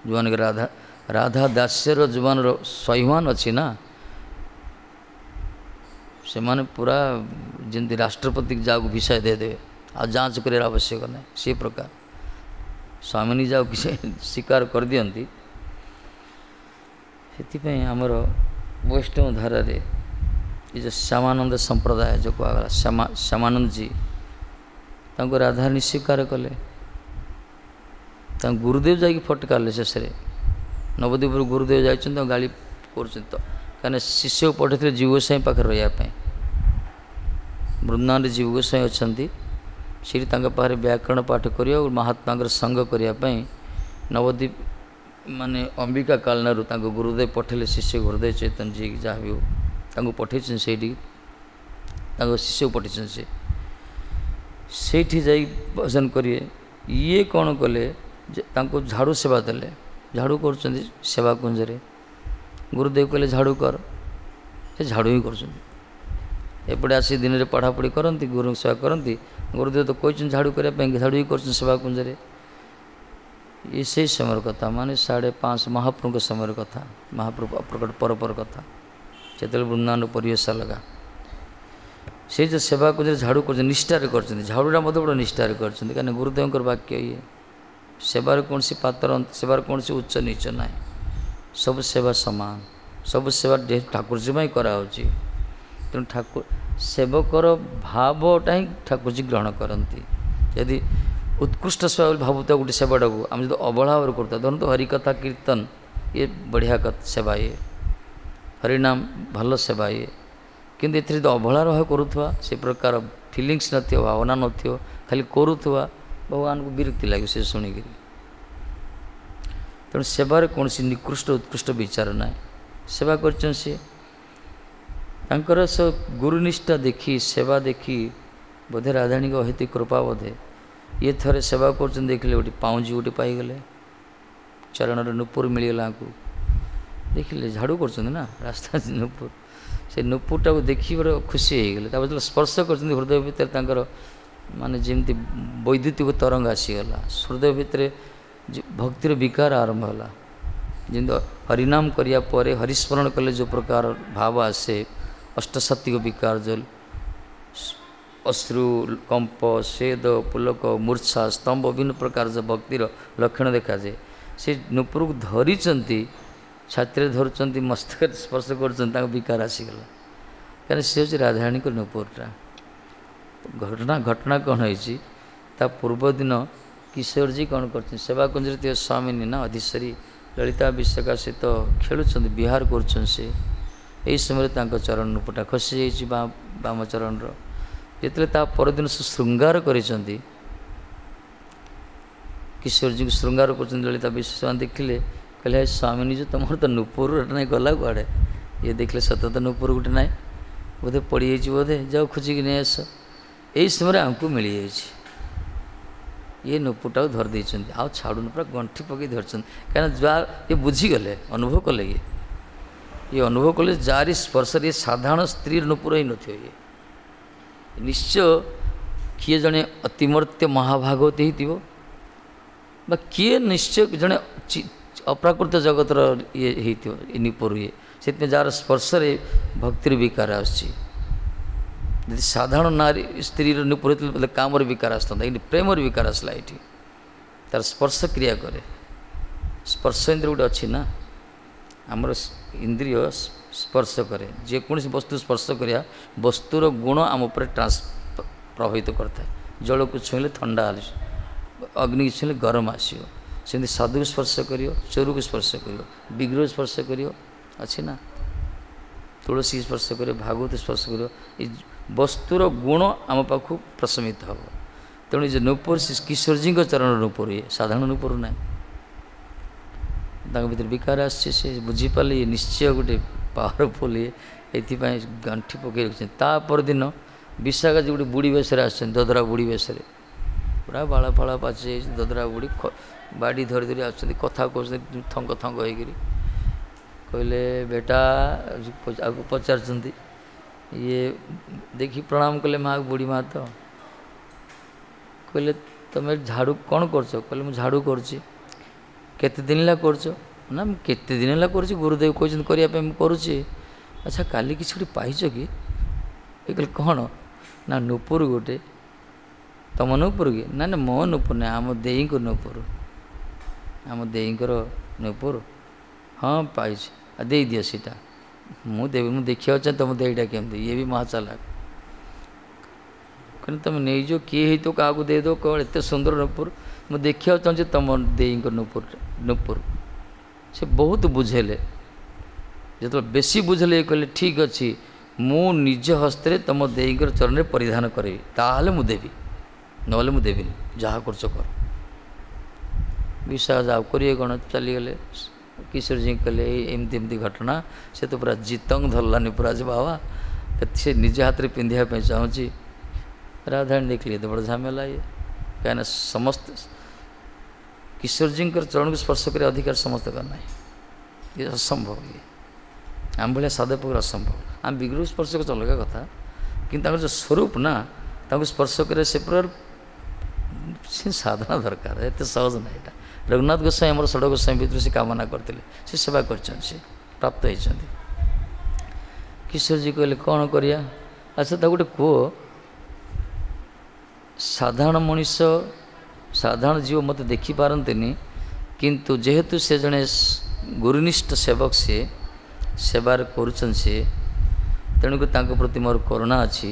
ଯେଉଁମାନଙ୍କ ରାଧା ରାଧା ଦାସ୍ୟର ଯେଉଁମାନର ସ୍ୱାଭିମାନ ଅଛି ନା, ସେମାନେ ପୁରା ଯେମିତି ରାଷ୍ଟ୍ରପତି ଯାହାକୁ ଭିସା ଦେଇଦେବେ, ଆଉ ଯାଞ୍ଚ କରିବାର ଆବଶ୍ୟକ ନାହିଁ, ସେ ପ୍ରକାର ସ୍ୱାମିନୀ ଯାହାକୁ କିଛି ସ୍ୱୀକାର କରିଦିଅନ୍ତି। ସେଥିପାଇଁ ଆମର ବୈଷ୍ଣବ ଧାରାରେ ଏ ଯେଉଁ ଶ୍ୟାମାନନ୍ଦ ସମ୍ପ୍ରଦାୟ ଯେଉଁ କୁହାଗଲା, ଶ୍ୟାମା ଶ୍ୟାମାନନ୍ଦଜୀ ତାଙ୍କୁ ରାଧାରାଣୀ ସ୍ୱୀକାର କଲେ, ତାଙ୍କ ଗୁରୁଦେବ ଯାଇକି ଫଟକାରିଲେ। ଶେଷରେ ନବଦ୍ୱୀପରୁ ଗୁରୁଦେବ ଯାଇଛନ୍ତି, ତାଙ୍କୁ ଗାଳି କରୁଛନ୍ତି ତ, କାହିଁକିନା ଶିଷ୍ୟକୁ ପଠାଇଥିଲେ ଜୀବ ଗୋସ୍ୱାମୀ ପାଖରେ ରହିବା ପାଇଁ। ବୃନ୍ଦାବନରେ ଜୀବ ଗୋସ୍ୱାମୀ ଅଛନ୍ତି, ସେଇଠି ତାଙ୍କ ପାଖରେ ବ୍ୟାକରଣ ପାଠ କରିବା ଓ ମହାତ୍ମାଙ୍କର ସଙ୍ଗ କରିବା ପାଇଁ ନବଦ୍ୱୀପ ମାନେ ଅମ୍ବିକା କାଳନାରୁ ତାଙ୍କ ଗୁରୁଦେବ ପଠାଇଲେ ଶିଷ୍ୟ ହୃଦୟ ଚୈତନ୍ୟ ଯିଏ ଯାହା ବି ହଉ ତାଙ୍କୁ ପଠାଇଛନ୍ତି ସେଇଠିକି, ତାଙ୍କ ଶିଷ୍ୟକୁ ପଠାଇଛନ୍ତି। ସେ ସେଇଠି ଯାଇ ଭଜନ କରିବେ। ଇଏ କ'ଣ କଲେ ଯେ ତାଙ୍କୁ ଝାଡ଼ୁ ସେବା ଦେଲେ, ଝାଡ଼ୁ କରୁଛନ୍ତି ସେବା କୁଞ୍ଜରେ। ଗୁରୁଦେବ କହିଲେ ଝାଡ଼ୁ କର, ସେ ଝାଡ଼ୁ ହିଁ କରୁଛନ୍ତି। ଏପଟେ ଆସି ଦିନରେ ପଢ଼ାପଢ଼ି କରନ୍ତି, ଗୁରୁଙ୍କ ସେବା କରନ୍ତି। ଗୁରୁଦେବ ତ କହିଛନ୍ତି ଝାଡ଼ୁ କରିବା ପାଇଁ, ଝାଡ଼ୁ ହିଁ କରୁଛନ୍ତି ସେବା କୁଞ୍ଜରେ। ଇଏ ସେଇ ସମୟର କଥା, ମାନେ ସାଢ଼େ ପାଞ୍ଚ ମହାପ୍ରଭୁଙ୍କ ସମୟର କଥା, ମହାପ୍ରଭୁ ଅପ୍ରକଟ ପର ପର କଥା। ସେତେବେଳେ ବୃନ୍ଦାବନ ପରିବେଶ ଅଲଗା। ସେ ଯେଉଁ ସେବା କୁଞ୍ଜରେ ଝାଡ଼ୁ କରୁଛନ୍ତି, ନିଷ୍ଠାରେ କରୁଛନ୍ତି, ଝାଡ଼ୁଟା ମଧ୍ୟ ବଡ଼ ନିଷ୍ଠାରେ କରୁଛନ୍ତି, କାହିଁକିନା ଗୁରୁଦେବଙ୍କର ବାକ୍ୟ ଇଏ। ସେବାର କୌଣସି ପାତ୍ର, ସେବାର କୌଣସି ଉଚ୍ଚ ନୀଚ ନାହିଁ, ସବୁ ସେବା ସମାନ, ସବୁ ସେବା ଠାକୁରଜୀ ପାଇଁ କରାହେଉଛି। ତେଣୁ ଠାକୁର ସେବକର ଭାବଟା ହିଁ ଠାକୁରଜୀ ଗ୍ରହଣ କରନ୍ତି। ଯଦି ଉତ୍କୃଷ୍ଟ ସେବା ବୋଲି ଭାବୁଥିବା ଗୋଟେ ସେବାଟାକୁ ଆମେ ଯଦି ଅବହେଳା ଭାବରେ କରୁଥିବା, ଧରନ୍ତୁ ହରିକଥା କୀର୍ତ୍ତନ ଇଏ ବଢ଼ିଆ ସେବା, ଇଏ ହରିନାମ ଭଲ ସେବା ଇଏ, କିନ୍ତୁ ଏଥିରେ ଯଦି ଅବହେଳାର ଭାବ କରୁଥିବା, ସେ ପ୍ରକାର ଫିଲିଙ୍ଗସ୍ ନଥିବ, ଭାବନା ନଥିବ, ଖାଲି କରୁଥିବା, ଭଗବାନଙ୍କୁ ବିରକ୍ତି ଲାଗିବ ସେ ଶୁଣିକିରି। ତେଣୁ ସେବାରେ କୌଣସି ନିକୃଷ୍ଟ ଉତ୍କୃଷ୍ଟ ବିଚାର ନାହିଁ। ସେବା କରିଛନ୍ତି ସିଏ, ତାଙ୍କର ସେ ଗୁରୁନିଷ୍ଠା ଦେଖି, ସେବା ଦେଖି ବୋଧେ ରାଧାରାଣୀଙ୍କ ଅହେତୁକ କୃପା ବୋଧେ, ଇଏ ଥରେ ସେବା କରୁଛନ୍ତି ଦେଖିଲେ ଗୋଟେ ପାଉଁଜି ଗୋଟେ ପାଇଗଲେ, ଚରଣର ନୂପୁର ମିଳିଗଲା ଆଙ୍କୁ। ଦେଖିଲେ ଝାଡ଼ୁ କରୁଛନ୍ତି ନା ରାସ୍ତା ନୂପୁର, ସେ ନୂପୁରଟାକୁ ଦେଖି ବଡ଼ ଖୁସି ହେଇଗଲେ। ତାପରେ ଯେତେବେଳେ ସ୍ପର୍ଶ କରୁଛନ୍ତି ହୃଦୟ ଭିତରେ ତାଙ୍କର ମାନେ ଯେମିତି ବୈଦ୍ୟୁତିକ ତରଙ୍ଗ ଆସିଗଲା, ହୃଦୟ ଭିତରେ ଭକ୍ତିର ବିକାର ଆରମ୍ଭ ହେଲା। ଯେମିତି ହରିନାମ କରିବା ପରେ ହରିସ୍ମରଣ କଲେ ଯେଉଁ ପ୍ରକାର ଭାବ ଆସେ, ଅଷ୍ଟସାତ୍ତ୍ୱିକ ବିକାର ଯେଉଁ ଅଶ୍ରୁ, କମ୍ପ, ସ୍ୱେଦ, ପୁଲକ, ମୂର୍ଚ୍ଛା, ସ୍ତମ୍ଭ, ବିଭିନ୍ନ ପ୍ରକାର ଯେଉଁ ଭକ୍ତିର ଲକ୍ଷଣ ଦେଖାଯାଏ, ସେ ନୂପୁରକୁ ଧରିଛନ୍ତି, ଛାତିରେ ଧରୁଛନ୍ତି, ମସ୍ତକରେ ସ୍ପର୍ଶ କରୁଛନ୍ତି, ତାଙ୍କ ବିକାର ଆସିଗଲା। କାରଣ ସେ ହେଉଛି ରାଧାରାଣୀଙ୍କ ନୂପୁରଟା। ଘଟଣା ଘଟଣା କ'ଣ ହେଇଛି, ତା ପୂର୍ବଦିନ କିଶୋରଜୀ କ'ଣ କରୁଛନ୍ତି, ସେବାକୁଞ୍ଜରେ ଥିବା ସ୍ୱାମିନୀ ନା ଅଧୀଶ୍ୱରୀ ଲଳିତା ବିଶାଖା ସହିତ ଖେଳୁଛନ୍ତି, ବିହାର କରୁଛନ୍ତି ସେ। ଏହି ସମୟରେ ତାଙ୍କ ଚରଣ ନୂପୁରଟା ଖସିଯାଇଛି ବାମ ଚରଣର। ଯେତେବେଳେ ତା ପରଦିନ ସେ ଶୃଙ୍ଗାର କରିଛନ୍ତି, କିଶୋରଜୀଙ୍କୁ ଶୃଙ୍ଗାର କରୁଛନ୍ତି ଲଳିତା ବିଶାଖା ଦେଖିଲେ, କହିଲେ ହେ ସ୍ୱାମିନୀ ଯେ ତୁମର ତ ନୂପୁର ନାହିଁ, ଗଲା କୁଆଡ଼େ? ଇଏ ଦେଖିଲେ ସତ ତ ନୂପୁର ଗୋଟେ ନାହିଁ, ବୋଧେ ପଡ଼ିଯାଇଛି ବୋଧେ, ଯାଅ ଖୋଜିକି ନେଇ ଆସ। ଏହି ସମୟରେ ଆମକୁ ମିଳିଯାଇଛି, ଇଏ ନୂପୁରଟାକୁ ଧରି ଦେଇଛନ୍ତି, ଆଉ ଛାଡ଼ୁନି, ପୁରା ଗଣ୍ଠି ପକାଇ ଧରିଛନ୍ତି। କାହିଁକିନା ଯାହା ଇଏ ବୁଝିଗଲେ, ଅନୁଭବ କଲେ, ଇଏ ଇଏ ଅନୁଭବ କଲେ ଯାରି ସ୍ପର୍ଶରେ ଇଏ ସାଧାରଣ ସ୍ତ୍ରୀର ନୂପୁର ହେଇନଥିବ, ଇଏ ନିଶ୍ଚୟ କିଏ ଜଣେ ଅତିମର୍ତ୍ୟ ମହାଭାଗବତୀ ହେଇଥିବ, ବା କିଏ ନିଶ୍ଚୟ ଜଣେ ଅପ୍ରାକୃତ ଜଗତର ଇଏ ହେଇଥିବ ଏ ନୂପୁର ଇଏ। ସେଥିପାଇଁ ଯାହାର ସ୍ପର୍ଶରେ ଭକ୍ତିର ବିକାର ଆସୁଛି। ଯଦି ସାଧାରଣ ନାରୀ ସ୍ତ୍ରୀର ନୂପୁର ହେଇଥିଲେ କାମର ବିକାର ଆସିଥାନ୍ତା, କିନ୍ତୁ ପ୍ରେମର ବିକାର ଆସିଲା ଏଇଠି। ତାର ସ୍ପର୍ଶ କ୍ରିୟା କରେ। ସ୍ପର୍ଶ ଇନ୍ଦ୍ରିୟ ଗୋଟେ ଅଛି ନା, ଆମର ଇନ୍ଦ୍ରିୟ ସ୍ପର୍ଶ କରେ, ଯେକୌଣସି ବସ୍ତୁ ସ୍ପର୍ଶ କରିବା ବସ୍ତୁର ଗୁଣ ଆମ ଉପରେ ଟ୍ରାନ୍ସ ପ୍ରଭାବିତ କରିଥାଏ। ଜଳକୁ ଛୁଇଁଲେ ଥଣ୍ଡା ଆସିବ, ଅଗ୍ନିକୁ ଛୁଇଁଲେ ଗରମ ଆସିବ। ସେମିତି ସାଧୁକୁ ସ୍ପର୍ଶ କରିବ, ଚୋରକୁ ସ୍ପର୍ଶ କରିବ, ବିଗ୍ରହ ସ୍ପର୍ଶ କରିବ, ଅଛି ନା, ତୁଳସୀ ସ୍ପର୍ଶ କରିବ, ଭାଗବତ ସ୍ପର୍ଶ କରିବ, ଏ ବସ୍ତୁର ଗୁଣ ଆମ ପାଖକୁ ପ୍ରଶମିତ ହେବ। ତେଣୁ ଏ ଯେଉଁ ନୂପୁର କିଶୋରଜୀଙ୍କ ଚରଣ ନୂପୁର, ଇଏ ସାଧାରଣ ନୂପୁର ନାହିଁ। ତାଙ୍କ ଭିତରେ ବିକାର ଆସିଛି, ସେ ବୁଝିପାରିଲେ ଇଏ ନିଶ୍ଚୟ ଗୋଟେ ପାୱାରଫୁଲ୍ ଇଏ, ଏଥିପାଇଁ ଗାଣ୍ଠି ପକାଇ ରଖିଛନ୍ତି। ତା ପରଦିନ ବିଶାଖା ଯେ ଗୋଟେ ବୁଢ଼ୀ ବେଶରେ ଆସିଛନ୍ତି, ଦଦରା ବୁଢ଼ୀ ବେଶରେ, ପୁରା ବାଳ ଫାଳ ପାଚି ଯାଇଛି, ଦଦରା ବୁଢ଼ୀ ବାଡ଼ି ଧରି ଧରି ଆସୁଛନ୍ତି, କଥା କହୁଛନ୍ତି ଥଙ୍ଗ ଥଙ୍ଗ ହେଇକିରି। କହିଲେ ବେଟା, ଆକୁ ପଚାରୁଛନ୍ତି, ଇଏ ଦେଖି ପ୍ରଣାମ କଲେ ମା, ବୁଢ଼ୀ ମା ତ। କହିଲେ ତୁମେ ଝାଡ଼ୁ କ'ଣ କରୁଛ? କହିଲେ ମୁଁ ଝାଡ଼ୁ କରୁଛି। କେତେ ଦିନ ହେଲା କରୁଛ? ନା ମୁଁ କେତେ ଦିନ ହେଲା କରୁଛି, ଗୁରୁଦେବ କହିଛନ୍ତି କରିବା ପାଇଁ ମୁଁ କରୁଛି। ଆଚ୍ଛା କାଲି କିଛି ଗୋଟେ ପାଇଛ କି? ଏ କହିଲେ କ'ଣ? ନା ନୂପୁର ଗୋଟେ। ତୁମ ନୂପୁର କି? ନା ନା ମୋ ନୂପୁର ନାହିଁ, ଆମ ଦେଇଙ୍କ ନୂପୁର, ଆମ ଦେଇଙ୍କର ନୂପୁର। ହଁ ପାଇଛି, ଆଉ ଦେଇଦିଅ ସେଇଟା, ମୁଁ ଦେବି, ମୁଁ ଦେଖିବାକୁ ଚାହେଁ ତୁମ ଦେଇଟା କେମିତି। ଇଏ ବି ମହା ଚାଲାକ, କହିଲେ ତୁମେ ନେଇଯିବ, କିଏ ହେଇଥିବ କାହାକୁ ଦେଇଦେବ, କ'ଣ ଏତେ ସୁନ୍ଦର ନୂପୁର, ମୁଁ ଦେଖିବାକୁ ଚାହୁଁଛି ତୁମ ଦେଇଙ୍କ ନୂପୁର ନୂପୁର। ସେ ବହୁତ ବୁଝେଇଲେ, ଯେତେବେଳେ ବେଶୀ ବୁଝେଇଲେ ଇଏ କହିଲେ ଠିକ୍ ଅଛି, ମୁଁ ନିଜ ହସ୍ତରେ ତୁମ ଦେଇଙ୍କର ଚରଣରେ ପରିଧାନ କରିବି, ତାହେଲେ ମୁଁ ଦେବି, ନହେଲେ ମୁଁ ଦେବିନି, ଯାହା କରୁଛ କର। ବିଶ୍ୱାସ ଆଉ କରିବେ କ'ଣ, ଚାଲିଗଲେ। କିଶୋରଜୀ କହିଲେ ଏଇ ଏମିତି ଏମିତି ଘଟଣା, ସେ ତ ପୁରା ଜିତଙ୍ଗ ଧରିଲାନି ପୁରା, ଯେ ବାବା ସେ ନିଜ ହାତରେ ପିନ୍ଧିବା ପାଇଁ ଚାହୁଁଛି। ରାଧାରାଣୀ ଦେଖିଲେ ଏତେ ବଡ଼ ଝାମେଲା ଇଏ, କାହିଁକିନା ସମସ୍ତେ କିଶୋରଜୀଙ୍କର ଚରଣକୁ ସ୍ପର୍ଶ କରିବା ଅଧିକାର ସମସ୍ତଙ୍କର ନାହିଁ, ଇଏ ଅସମ୍ଭବ, ଇଏ ଆମ ଭଳିଆ ସାଧକ ଅସମ୍ଭବ। ଆମେ ବିଗ୍ରହ ସ୍ପର୍ଶ କରୁଛୁ ଅଲଗା କଥା, କିନ୍ତୁ ତାଙ୍କର ଯେଉଁ ସ୍ୱରୂପ ନା, ତାଙ୍କୁ ସ୍ପର୍ଶ କରିବା ସେ ପ୍ରକାର ସେ ସାଧନା ଦରକାର, ଏତେ ସହଜ ନାହିଁ ଏଇଟା। ରଘୁନାଥ ଗୋସ୍ୱାମୀ ଆମର ଷଡ଼ ଗୋସ୍ୱାମୀ ଭିତରୁ ସେ କାମନା କରିଥିଲେ, ସେ ସେବା କରିଛନ୍ତି, ସେ ପ୍ରାପ୍ତ ହେଇଛନ୍ତି। କିଶୋରଜୀ କହିଲେ କ'ଣ କରିବା? ଆଚ୍ଛା ତାକୁ ଗୋଟେ କୁହ, ସାଧାରଣ ମଣିଷ ସାଧାରଣ ଜୀବ ମୋତେ ଦେଖିପାରନ୍ତିନି, କିନ୍ତୁ ଯେହେତୁ ସେ ଜଣେ ଗୁରୁନିଷ୍ଠ ସେବକ, ସିଏ ସେବାରେ କରୁଛନ୍ତି ସିଏ, ତେଣୁକରି ତାଙ୍କ ପ୍ରତି ମୋର କରୁଣା ଅଛି,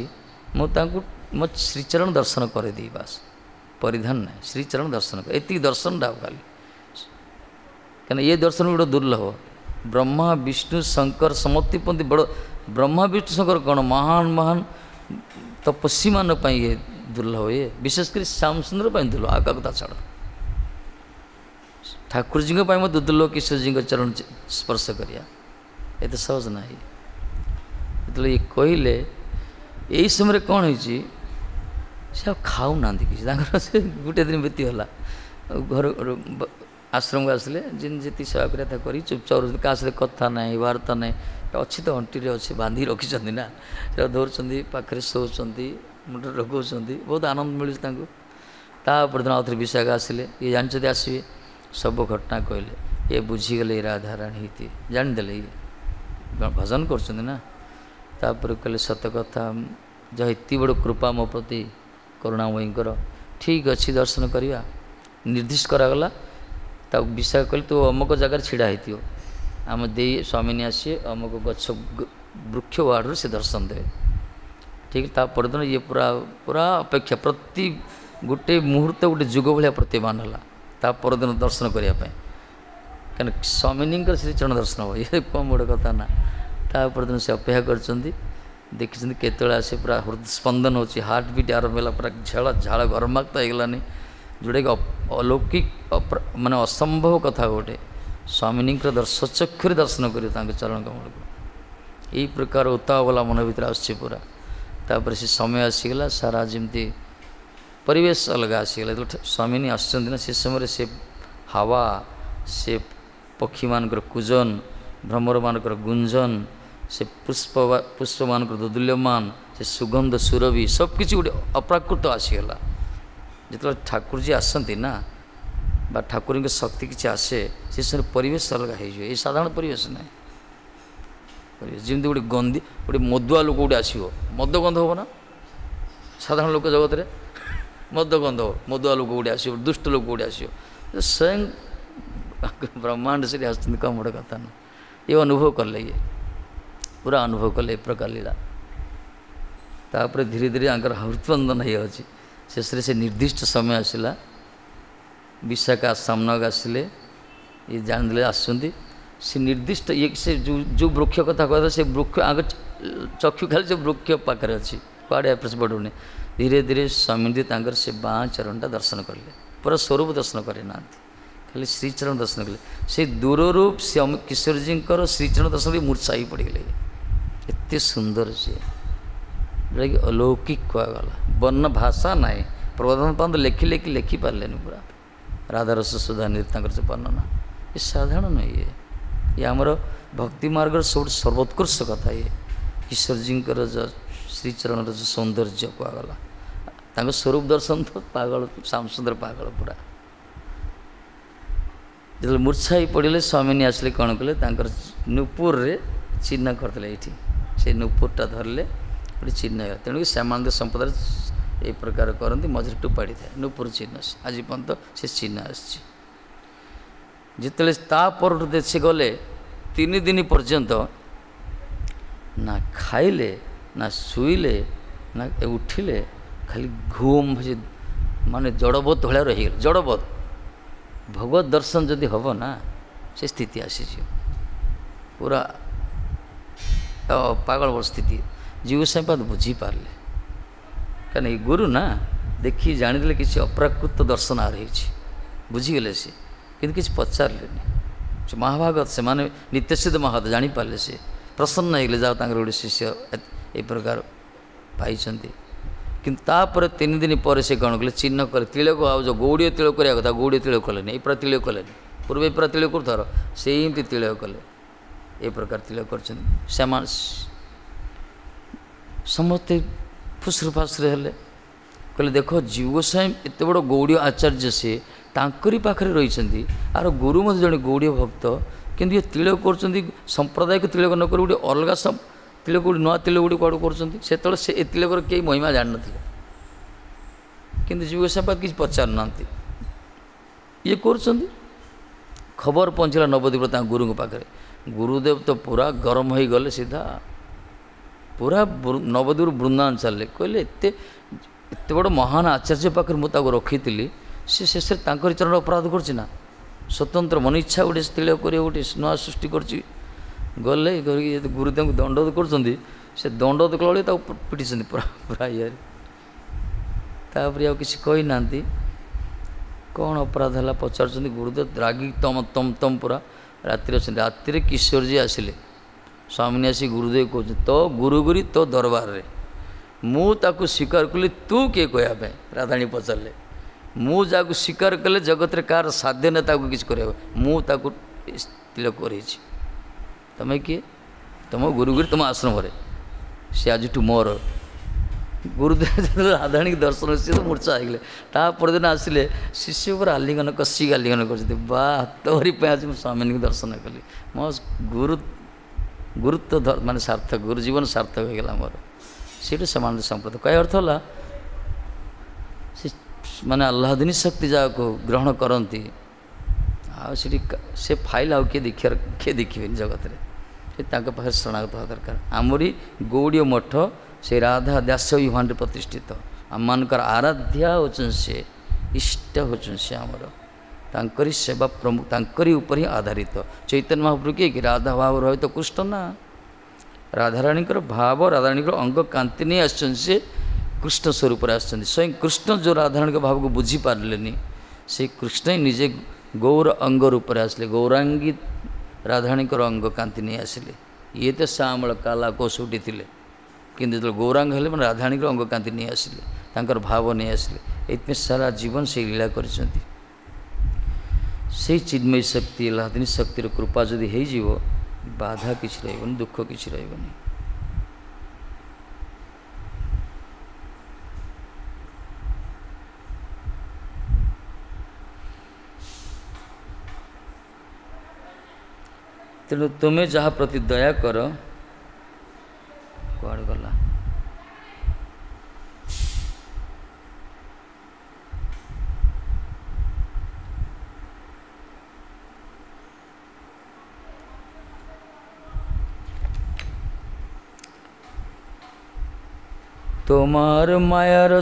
ମୁଁ ତାଙ୍କୁ ମୋ ଶ୍ରୀଚରଣ ଦର୍ଶନ କରିଦେଇ, ବାସ୍ ପରିଧାନ ନାହିଁ, ଶ୍ରୀଚରଣ ଦର୍ଶନ କରେ, ଏତିକି ଦର୍ଶନଟା ଖାଲି। କାହିଁକିନା ଏ ଦର୍ଶନ ଗୋଟେ ଦୁର୍ଲଭ। ବ୍ରହ୍ମା ବିଷ୍ଣୁ ଶଙ୍କର ସମତିପନ୍ତି ବଡ଼, ବ୍ରହ୍ମା ବିଷ୍ଣୁ ଶଙ୍କର କ'ଣ ମହାନ ମହାନ ତପସ୍ୱୀମାନଙ୍କ ପାଇଁ ଇଏ ଦୁର୍ଲଭ, ଇଏ ବିଶେଷ କରି ଶ୍ୟାମସୁନ୍ଦର ପାଇଁ ଦୁର୍ଲଭ, ଆଉ କାହାକୁ ତା ଛାଡ଼। ଠାକୁରଜୀଙ୍କ ପାଇଁ ମଧ୍ୟ ଦୁର୍ଲଭ କିଶୋରଜୀଙ୍କ ଚରଣ ସ୍ପର୍ଶ କରିବା ଏତେ ସହଜ ନାହିଁ। ଯେତେବେଳେ ଇଏ କହିଲେ, ଏଇ ସମୟରେ କ'ଣ ହେଇଛି, ସେ ଆଉ ଖାଉନାହାନ୍ତି କିଛି, ତାଙ୍କର ସେ ଗୋଟେ ଦିନ ବିତିଗଲା। ଘର ଆଶ୍ରମକୁ ଆସିଲେ, ଯେମିତି ଯେତିକି ସେବା କରିବା କଥା କରି ଚୁପଚାପ ରହୁଛନ୍ତି, କାହା ସହିତ କଥା ନାହିଁ, ବାର୍ତ୍ତା ନାହିଁ। ଅଛି ତ ଅଣ୍ଟିରେ ଅଛି, ବାନ୍ଧିକି ରଖିଛନ୍ତି ନା, ସେଟା ଧରୁଛନ୍ତି, ପାଖରେ ଶୋଉଛନ୍ତି, ମୁଣ୍ଡରେ ଲଗାଉଛନ୍ତି, ବହୁତ ଆନନ୍ଦ ମିଳୁଛି ତାଙ୍କୁ। ତାପରଦିନ ଦିନ ଆଉଥରେ ବିଶାଖା ଆସିଲେ, ଇଏ ଜାଣିଛନ୍ତି ଆସିବେ, ସବୁ ଘଟଣା କହିଲେ। ଇଏ ବୁଝିଗଲେ ଏ ରାଧାରାଣୀ ହେଇଥିବେ, ଜାଣିଦେଲେ ଇଏ ଭଜନ କରୁଛନ୍ତି ନା। ତାପରେ କହିଲେ ସତ କଥା, ଯାହା ଏତେ ବଡ଼ କୃପା ମୋ ପ୍ରତି କରୁଣାମୟୀଙ୍କର, ଠିକ୍ ଅଛି ଦର୍ଶନ କରିବା। ନିର୍ଦ୍ଦିଷ୍ଟ କରାଗଲା। ତାକୁ ବିଶାଖା କହିଲେ ତୁ ଅମୁକ ଜାଗାରେ ଛିଡ଼ା ହେଇଥିବ, ଆମ ଦେଇ ସ୍ୱାମିନୀ ଆସିବେ, ଅମୁକ ଗଛ ବୃକ୍ଷ ୱାର୍ଡ଼ରୁ ସେ ଦର୍ଶନ ଦେବେ। ଠିକ୍ ତା ପରଦିନ ଇଏ ପୁରା ପୁରା ଅପେକ୍ଷା, ପ୍ରତି ଗୋଟେ ମୁହୂର୍ତ୍ତ ଗୋଟେ ଯୁଗ ଭଳିଆ ପ୍ରତିମାନ ହେଲା ତା ପରଦିନ ଦର୍ଶନ କରିବା ପାଇଁ। କାରଣ ସ୍ୱାମିନୀଙ୍କର ଶ୍ରୀଚରଣ ଦର୍ଶନ ହେବ, ଇଏ କମ୍ ବଡ଼ କଥା ନା। ତା ପରଦିନ ସେ ଅପେକ୍ଷା କରିଛନ୍ତି, ଦେଖିଛନ୍ତି କେତେବେଳେ ଆସେ, ପୁରା ହୃଦସ୍ପନ୍ଦନ ହେଉଛି, ହାର୍ଟ ବିଟ୍ ଆରମ୍ଭ ହେଲା, ପୁରା ଝାଳ ଝାଳ ଗରମାକ୍ତ ହେଇଗଲାନି, ଯେଉଁଟାକି ଅଲୌକିକ ମାନେ ଅସମ୍ଭବ କଥା ଗୋଟେ। ସ୍ୱାମିନୀଙ୍କର ସ୍ୱଚକ୍ଷୁରେ ଦର୍ଶନ କରିବ ତାଙ୍କ ଚରଣ କମଳକୁ, ଏଇ ପ୍ରକାର ଉତ୍ତାବଲା ମନ ଭିତରେ ଆସୁଛି ପୁରା। ତାପରେ ସେ ସମୟ ଆସିଗଲା, ସାରା ଯେମିତି ପରିବେଶ ଅଲଗା ଆସିଗଲା। ଯେତେବେଳେ ସ୍ୱାମିନୀ ଆସୁଛନ୍ତି ନା, ସେ ସମୟରେ ସେ ହାୱା, ସେ ପକ୍ଷୀମାନଙ୍କର କୁଜନ, ଭ୍ରମରମାନଙ୍କର ଗୁଞ୍ଜନ, ସେ ପୁଷ୍ପ ପୁଷ୍ପମାନଙ୍କର ଦୋଦୁଲ୍ୟମାନ, ସେ ସୁଗନ୍ଧ ସୁରଭି, ସବୁକିଛି ଗୋଟେ ଅପ୍ରାକୃତ ଆସିଗଲା। ଯେତେବେଳେ ଠାକୁରଜୀ ଆସନ୍ତି ନା, ବା ଠାକୁରଙ୍କ ଶକ୍ତି କିଛି ଆସେ, ସେ ସମୟରେ ପରିବେଶ ଅଲଗା ହେଇଯିବ। ଏ ସାଧାରଣ ପରିବେଶ ନାହିଁ। ପରିବେଶ ଯେମିତି ଗୋଟେ ଗନ୍ଧି, ଗୋଟେ ମଦୁଆ ଲୋକ ଗୋଟେ ଆସିବ, ମଦ ଗନ୍ଧ ହେବ ନା ସାଧାରଣ ଲୋକ ଜଗତରେ, ମଦ ଗନ୍ଧ ହେବ, ମଦୁଆ ଲୋକ ଗୋଟେ ଆସିବ, ଦୁଷ୍ଟ ଲୋକ ଗୋଟେ ଆସିବ, ସ୍ୱୟଂ ବ୍ରହ୍ମାଣ୍ଡ ସେଠି ଆସୁଛନ୍ତି, କମ ବଡ଼ କଥା ନା। ଇଏ ଅନୁଭବ କଲେ, ଇଏ ପୁରା ଅନୁଭବ କଲେ ଏ ପ୍ରକାର ଲୀଳା। ତାପରେ ଧୀରେ ଧୀରେ ଆଙ୍କର ହୃତ୍ସ୍ପନ୍ଦନ ହେଇଯାଉଛି। ଶେଷରେ ସେ ନିର୍ଦ୍ଦିଷ୍ଟ ସମୟ ଆସିଲା, ବିଶାଖା ସାମ୍ନାକୁ ଆସିଲେ, ଇଏ ଜାଣିଦେଲେ ଆସୁଛନ୍ତି। ସେ ନିର୍ଦ୍ଦିଷ୍ଟ ଇଏ ସେ ଯେଉଁ ଯେଉଁ ବୃକ୍ଷ କଥା କହିଲେ, ସେ ବୃକ୍ଷ ଆଗ ଚକ୍ଷୁ ଖାଲି ସେ ବୃକ୍ଷ ପାଖରେ ଅଛି, କୁଆଡ଼େ ଏପଟ ବଢ଼ୁନି। ଧୀରେ ଧୀରେ ସ୍ୱାମୀଜୀ ତାଙ୍କର ସେ ବାଁ ଚରଣଟା ଦର୍ଶନ କଲେ, ପୁରା ସ୍ୱରୂପ ଦର୍ଶନ କରିନାହାନ୍ତି, ଖାଲି ଶ୍ରୀଚରଣ ଦର୍ଶନ କଲେ। ସେ ଦୂରରୁ ସେ କିଶୋରଜୀଙ୍କର ଶ୍ରୀଚରଣ ଦର୍ଶନ କରି ମୂର୍ଚ୍ଛା ହେଇ ପଡ଼ିଗଲେ। ଏତେ ସୁନ୍ଦର ସିଏ, ଯେଉଁଟାକି ଅଲୌକିକ କୁହାଗଲା, ବର୍ଣ୍ଣ ଭାଷା ନାହିଁ। ପ୍ରବୋଧନ ପାନ୍ତ ଲେଖି ଲେଖି ଲେଖିପାରିଲେନି ପୁରା। ରାଧାରସ ସୁଧାନିଧି ତାଙ୍କର ସେ ବର୍ଣ୍ଣନା ଏ ସାଧାରଣ ନୁହେଁ। ଇଏ ଇଏ ଆମର ଭକ୍ତି ମାର୍ଗର ସବୁଠୁ ସର୍ବୋତ୍କୃଷ୍ଟ କଥା। ଇଏ କିଶୋରଜୀଙ୍କର ଯେଉଁ ଶ୍ରୀଚରଣର ଯେଉଁ ସୌନ୍ଦର୍ଯ୍ୟ କୁହାଗଲା, ତାଙ୍କ ସ୍ୱରୂପ ଦର୍ଶନ ତ ପାଗଳ, ଶ୍ୟାମସୁନ୍ଦର ପାଗଳ ପୁରା। ଯେତେବେଳେ ମୂର୍ଚ୍ଛା ହେଇ ପଡ଼ିଲେ, ସ୍ୱାମିନୀ ଆସିଲେ, କ'ଣ କଲେ, ତାଙ୍କର ନୂପୁରରେ ଚିହ୍ନ କରିଥିଲେ ଏଇଠି, ସେ ନୂପୁରଟା ଧରିଲେ ଗୋଟେ ଚିହ୍ନ ହେଇଗଲା। ତେଣୁକି ଶ୍ୟାମାନନ୍ଦ ସମ୍ପ୍ରଦାୟରେ ଏଇ ପ୍ରକାର କରନ୍ତି, ମଝିରେ ଟୁପାଡ଼ି ଥାଏ ନୂପୁର ଚିହ୍ନ, ଆଜି ପର୍ଯ୍ୟନ୍ତ ସେ ଚିହ୍ନ ଆସିଛି। ଯେତେବେଳେ ତା ପରଠୁ ସେ ଗଲେ, ତିନି ଦିନ ପର୍ଯ୍ୟନ୍ତ ନା ଖାଇଲେ, ନା ଶୋଇଲେ, ନା ଉଠିଲେ, ଖାଲି ଘୁମ୍ ମାନେ ଜଡ଼ବତ ଭଳିଆ ରହିଗଲେ। ଜଡ଼ବତ ଭଗବତ ଦର୍ଶନ ଯଦି ହେବ ନା, ସେ ସ୍ଥିତି ଆସିଯିବ ପୁରା ପାଗଳ ସ୍ଥିତି। ଜୀବ ଗୋସ୍ୱାମୀପାଦ ବୁଝିପାରିଲେ, କାରଣ ଏଇ ଗୁରୁ ନା, ଦେଖି ଜାଣିଦେଲେ କିଛି ଅପ୍ରାକୃତ ଦର୍ଶନ ଆର ହେଇଛି, ବୁଝିଗଲେ ସେ, କିନ୍ତୁ କିଛି ପଚାରିଲେନି। ସେ ମହାଭାଗତ, ସେମାନେ ନିତ୍ୟସିଦ୍ଧ ମହାଭାଗତ ଜାଣିପାରିଲେ, ସେ ପ୍ରସନ୍ନ ହେଇଗଲେ, ଯାହା ତାଙ୍କର ଗୋଟେ ଶିଷ୍ୟ ଏ ପ୍ରକାର ପାଇଛନ୍ତି। କିନ୍ତୁ ତାପରେ ତିନି ଦିନ ପରେ ସେ କ'ଣ କଲେ, ଚିହ୍ନ କଲେ ତିଳକ। ଆଉ ଯେଉଁ ଗୌଡ଼ୀୟ ତିଳକ କରିବା କଥା, ଗୌଡ଼ୀୟ ତିଳକ କଲେନି, ଏଇ ପୁରା ତିଳକ କଲେନି। ପୂର୍ବେ ପୁରା ତିଳକ କରୁଥର, ସେମିତି ତିଳକ କଲେ, ଏ ପ୍ରକାର ତିଳକ କରିଛନ୍ତି। ସେମାନେ ସମସ୍ତେ ଫୁସୁରୁ ଫାସୁରୁ ହେଲେ, କହିଲେ ଦେଖ ଜୀବ ଗୋସ୍ୱାମୀ ଏତେ ବଡ଼ ଗୌଡ଼ୀୟ ଆଚାର୍ଯ୍ୟ, ସିଏ ତାଙ୍କରି ପାଖରେ ରହିଛନ୍ତି, ଆର ଗୁରୁ ମଧ୍ୟ ଜଣେ ଗୌଡ଼ୀୟ ଭକ୍ତ, କିନ୍ତୁ ଇଏ ତିଳକ କରୁଛନ୍ତି ସମ୍ପ୍ରଦାୟକୁ ତିଳକ ନ କରି ଗୋଟେ ଅଲଗା ତିଳକ, ଗୋଟେ ନୂଆ ତିଳକ ଗୋଟେ କୁଆଡ଼ୁ କରୁଛନ୍ତି। ସେତେବେଳେ ସେ ଏ ତିଳକର କେହି ମହିମା ଜାଣିନଥିଲେ, କିନ୍ତୁ ଜୀବ ଗୋସ୍ୱାମୀ କିଛି ପଚାରୁନାହାନ୍ତି, ଇଏ କରୁଛନ୍ତି। ଖବର ପହଞ୍ଚିଲା ନବଦ୍ୱୀପ ତାଙ୍କ ଗୁରୁଙ୍କ ପାଖରେ। ଗୁରୁଦେବ ତ ପୁରା ଗରମ ହେଇଗଲେ, ସିଧା ପୁରା ନବଦ୍ୱୀପରୁ ବୃନ୍ଦାବନ ଚାଲିଲେ। କହିଲେ ଏତେ ଏତେ ବଡ଼ ମହାନ ଆଚାର୍ଯ୍ୟ ପାଖରେ ମୁଁ ତାକୁ ରଖିଥିଲି, ସେ ଶେଷରେ ତାଙ୍କରି ଚରଣ ଅପରାଧ କରୁଛି ନା, ସ୍ୱତନ୍ତ୍ର ମନ ଇଚ୍ଛା ଗୋଟେ ତିଳକ କରିବ, ଗୋଟେ ନୂଆ ସୃଷ୍ଟି କରୁଛି। ଗଲେ କରିକି ଯଦି ଗୁରୁ ତାଙ୍କୁ ଦଣ୍ଡ କରୁଛନ୍ତି, ସେ ଦଣ୍ଡ କଲାବେଳେ ତାକୁ ପିଟିଛନ୍ତି ପୁରା ପୁରା ଇଏରେ। ତାପରେ ଆଉ କିଛି କହିନାହାନ୍ତି, କ'ଣ ଅପରାଧ ହେଲା ପଚାରୁଛନ୍ତି। ଗୁରୁଦେବ ରାଗି ତମ ତମ ତମ ପୁରା ରାତିରେ ଅଛନ୍ତି। ରାତିରେ କିଶୋରଜୀ ଆସିଲେ, ସ୍ୱାମିନୀ ଆସି ଗୁରୁଦେବ କହୁଛନ୍ତି, ତୋ ଗୁରୁଗୁରି ତୋ ଦରବାରରେ ମୁଁ ତାକୁ ସ୍ୱୀକାର କଲି, ତୁ କିଏ କହିବା ପାଇଁ? ରାଧାଣୀ ପଚାରିଲେ, ମୁଁ ଯାହାକୁ ସ୍ୱୀକାର କଲେ ଜଗତରେ କାହାର ସାଧ୍ୟ ନାହିଁ ତାକୁ କିଛି କରିବାକୁ, ମୁଁ ତାକୁ ତିଳକ କରେଇଛି। ତମେ କିଏ? ତୁମ ଗୁରୁଗୁରି ତୁମ ଆଶ୍ରମରେ, ସେ ଆଜିଠୁ ମୋର। ଗୁରୁଦେବ ଯେତେବେଳେ ରାଧାରାଣୀକି ଦର୍ଶନ, ସିଏ ତ ମୂର୍ଚ୍ଛା ହେଇଗଲେ। ତା ପରଦିନ ଆସିଲେ, ଶିଷ୍ୟ ଉପରେ ଆଲିଙ୍ଗନ କଷିକି ଆଲିଙ୍ଗନ କରୁଛନ୍ତି, ବା ତୋରି ପାଇଁ ଆଜି ମୁଁ ସ୍ୱାମୀଙ୍କୁ ଦର୍ଶନ କଲି। ମୋ ଗୁରୁ ଗୁରୁତ୍ୱ ମାନେ ସାର୍ଥକ, ଗୁରୁ ଜୀବନ ସାର୍ଥକ ହେଇଗଲା ମୋର। ସେଇଠୁ ସେମାନଙ୍କ ସମ୍ପ୍ରଦାୟ କହିବା ଅର୍ଥ ହେଲା ସେ ମାନେ ଆହ୍ଲାଦିନୀ ଶକ୍ତି ଯାହାକୁ ଗ୍ରହଣ କରନ୍ତି, ଆଉ ସେଠି ସେ ଫାଇଲ୍ ଆଉ କିଏ ଦେଖିବାର କିଏ ଦେଖିବେନି ଜଗତରେ। ସେ ତାଙ୍କ ପାଖରେ ଶରଣାଗତ ହେବା ଦରକାର। ଆମରି ଗୌଡ଼ୀୟ ମଠ ସେ ରାଧା ଦାସ ବିଭାନରେ ପ୍ରତିଷ୍ଠିତ। ଆମମାନଙ୍କର ଆରାଧ୍ୟା ହେଉଛନ୍ତି ସେ, ଇଷ୍ଟ ହେଉଛନ୍ତି ସେ ଆମର। ତାଙ୍କରି ସେବା ପ୍ରମୁଖ, ତାଙ୍କରି ଉପରେ ହିଁ ଆଧାରିତ। ଚୈତନ୍ୟ ମହାପ୍ରଭୁ କିଏ କି? ରାଧା ଭାବ ରହିତ କୃଷ୍ଣ ନା, ରାଧାରାଣୀଙ୍କର ଭାବ, ରାଧାରାଣୀଙ୍କର ଅଙ୍ଗ କାନ୍ତି ନେଇ ଆସିଛନ୍ତି ସେ, କୃଷ୍ଣ ସ୍ୱରୂପରେ ଆସିଛନ୍ତି। ସ୍ୱୟଂ କୃଷ୍ଣ ଯେଉଁ ରାଧାରାଣୀଙ୍କ ଭାବକୁ ବୁଝିପାରିଲେନି, ସେଇ କୃଷ୍ଣ ହିଁ ନିଜେ ଗୌର ଅଙ୍ଗ ରୂପରେ ଆସିଲେ, ଗୌରାଙ୍ଗୀ ରାଧାରାଣୀଙ୍କର ଅଙ୍ଗ କାନ୍ତି ନେଇ ଆସିଲେ। ଇଏ ତ ଶ୍ୟାମଳ କାଲା କୋଷୁଟି ଥିଲେ, କିନ୍ତୁ ଯେତେବେଳେ ଗୌରାଙ୍ଗ ହେଲେ ମାନେ ରାଧାରାଣୀଙ୍କର ଅଙ୍ଗ କାନ୍ତି ନେଇ ଆସିଲେ, ତାଙ୍କର ଭାବ ନେଇ ଆସିଲେ। ଏଇଥିପାଇଁ ସାରା ଜୀବନ ସେଇ ଲୀଳା କରିଛନ୍ତି। ସେଇ ଚିନ୍ମୟୀ ଶକ୍ତି, ଆହ୍ଲାଦିନୀ ଶକ୍ତିର କୃପା ଯଦି ହେଇଯିବ, ବାଧା କିଛି ରହିବନି, ଦୁଃଖ କିଛି ରହିବନି। ତେଣୁ ତୁମେ ଯାହା ପ୍ରତି ଦୟା କର, କୁଆଡ଼େ ଗଲା? তোমার মায়ার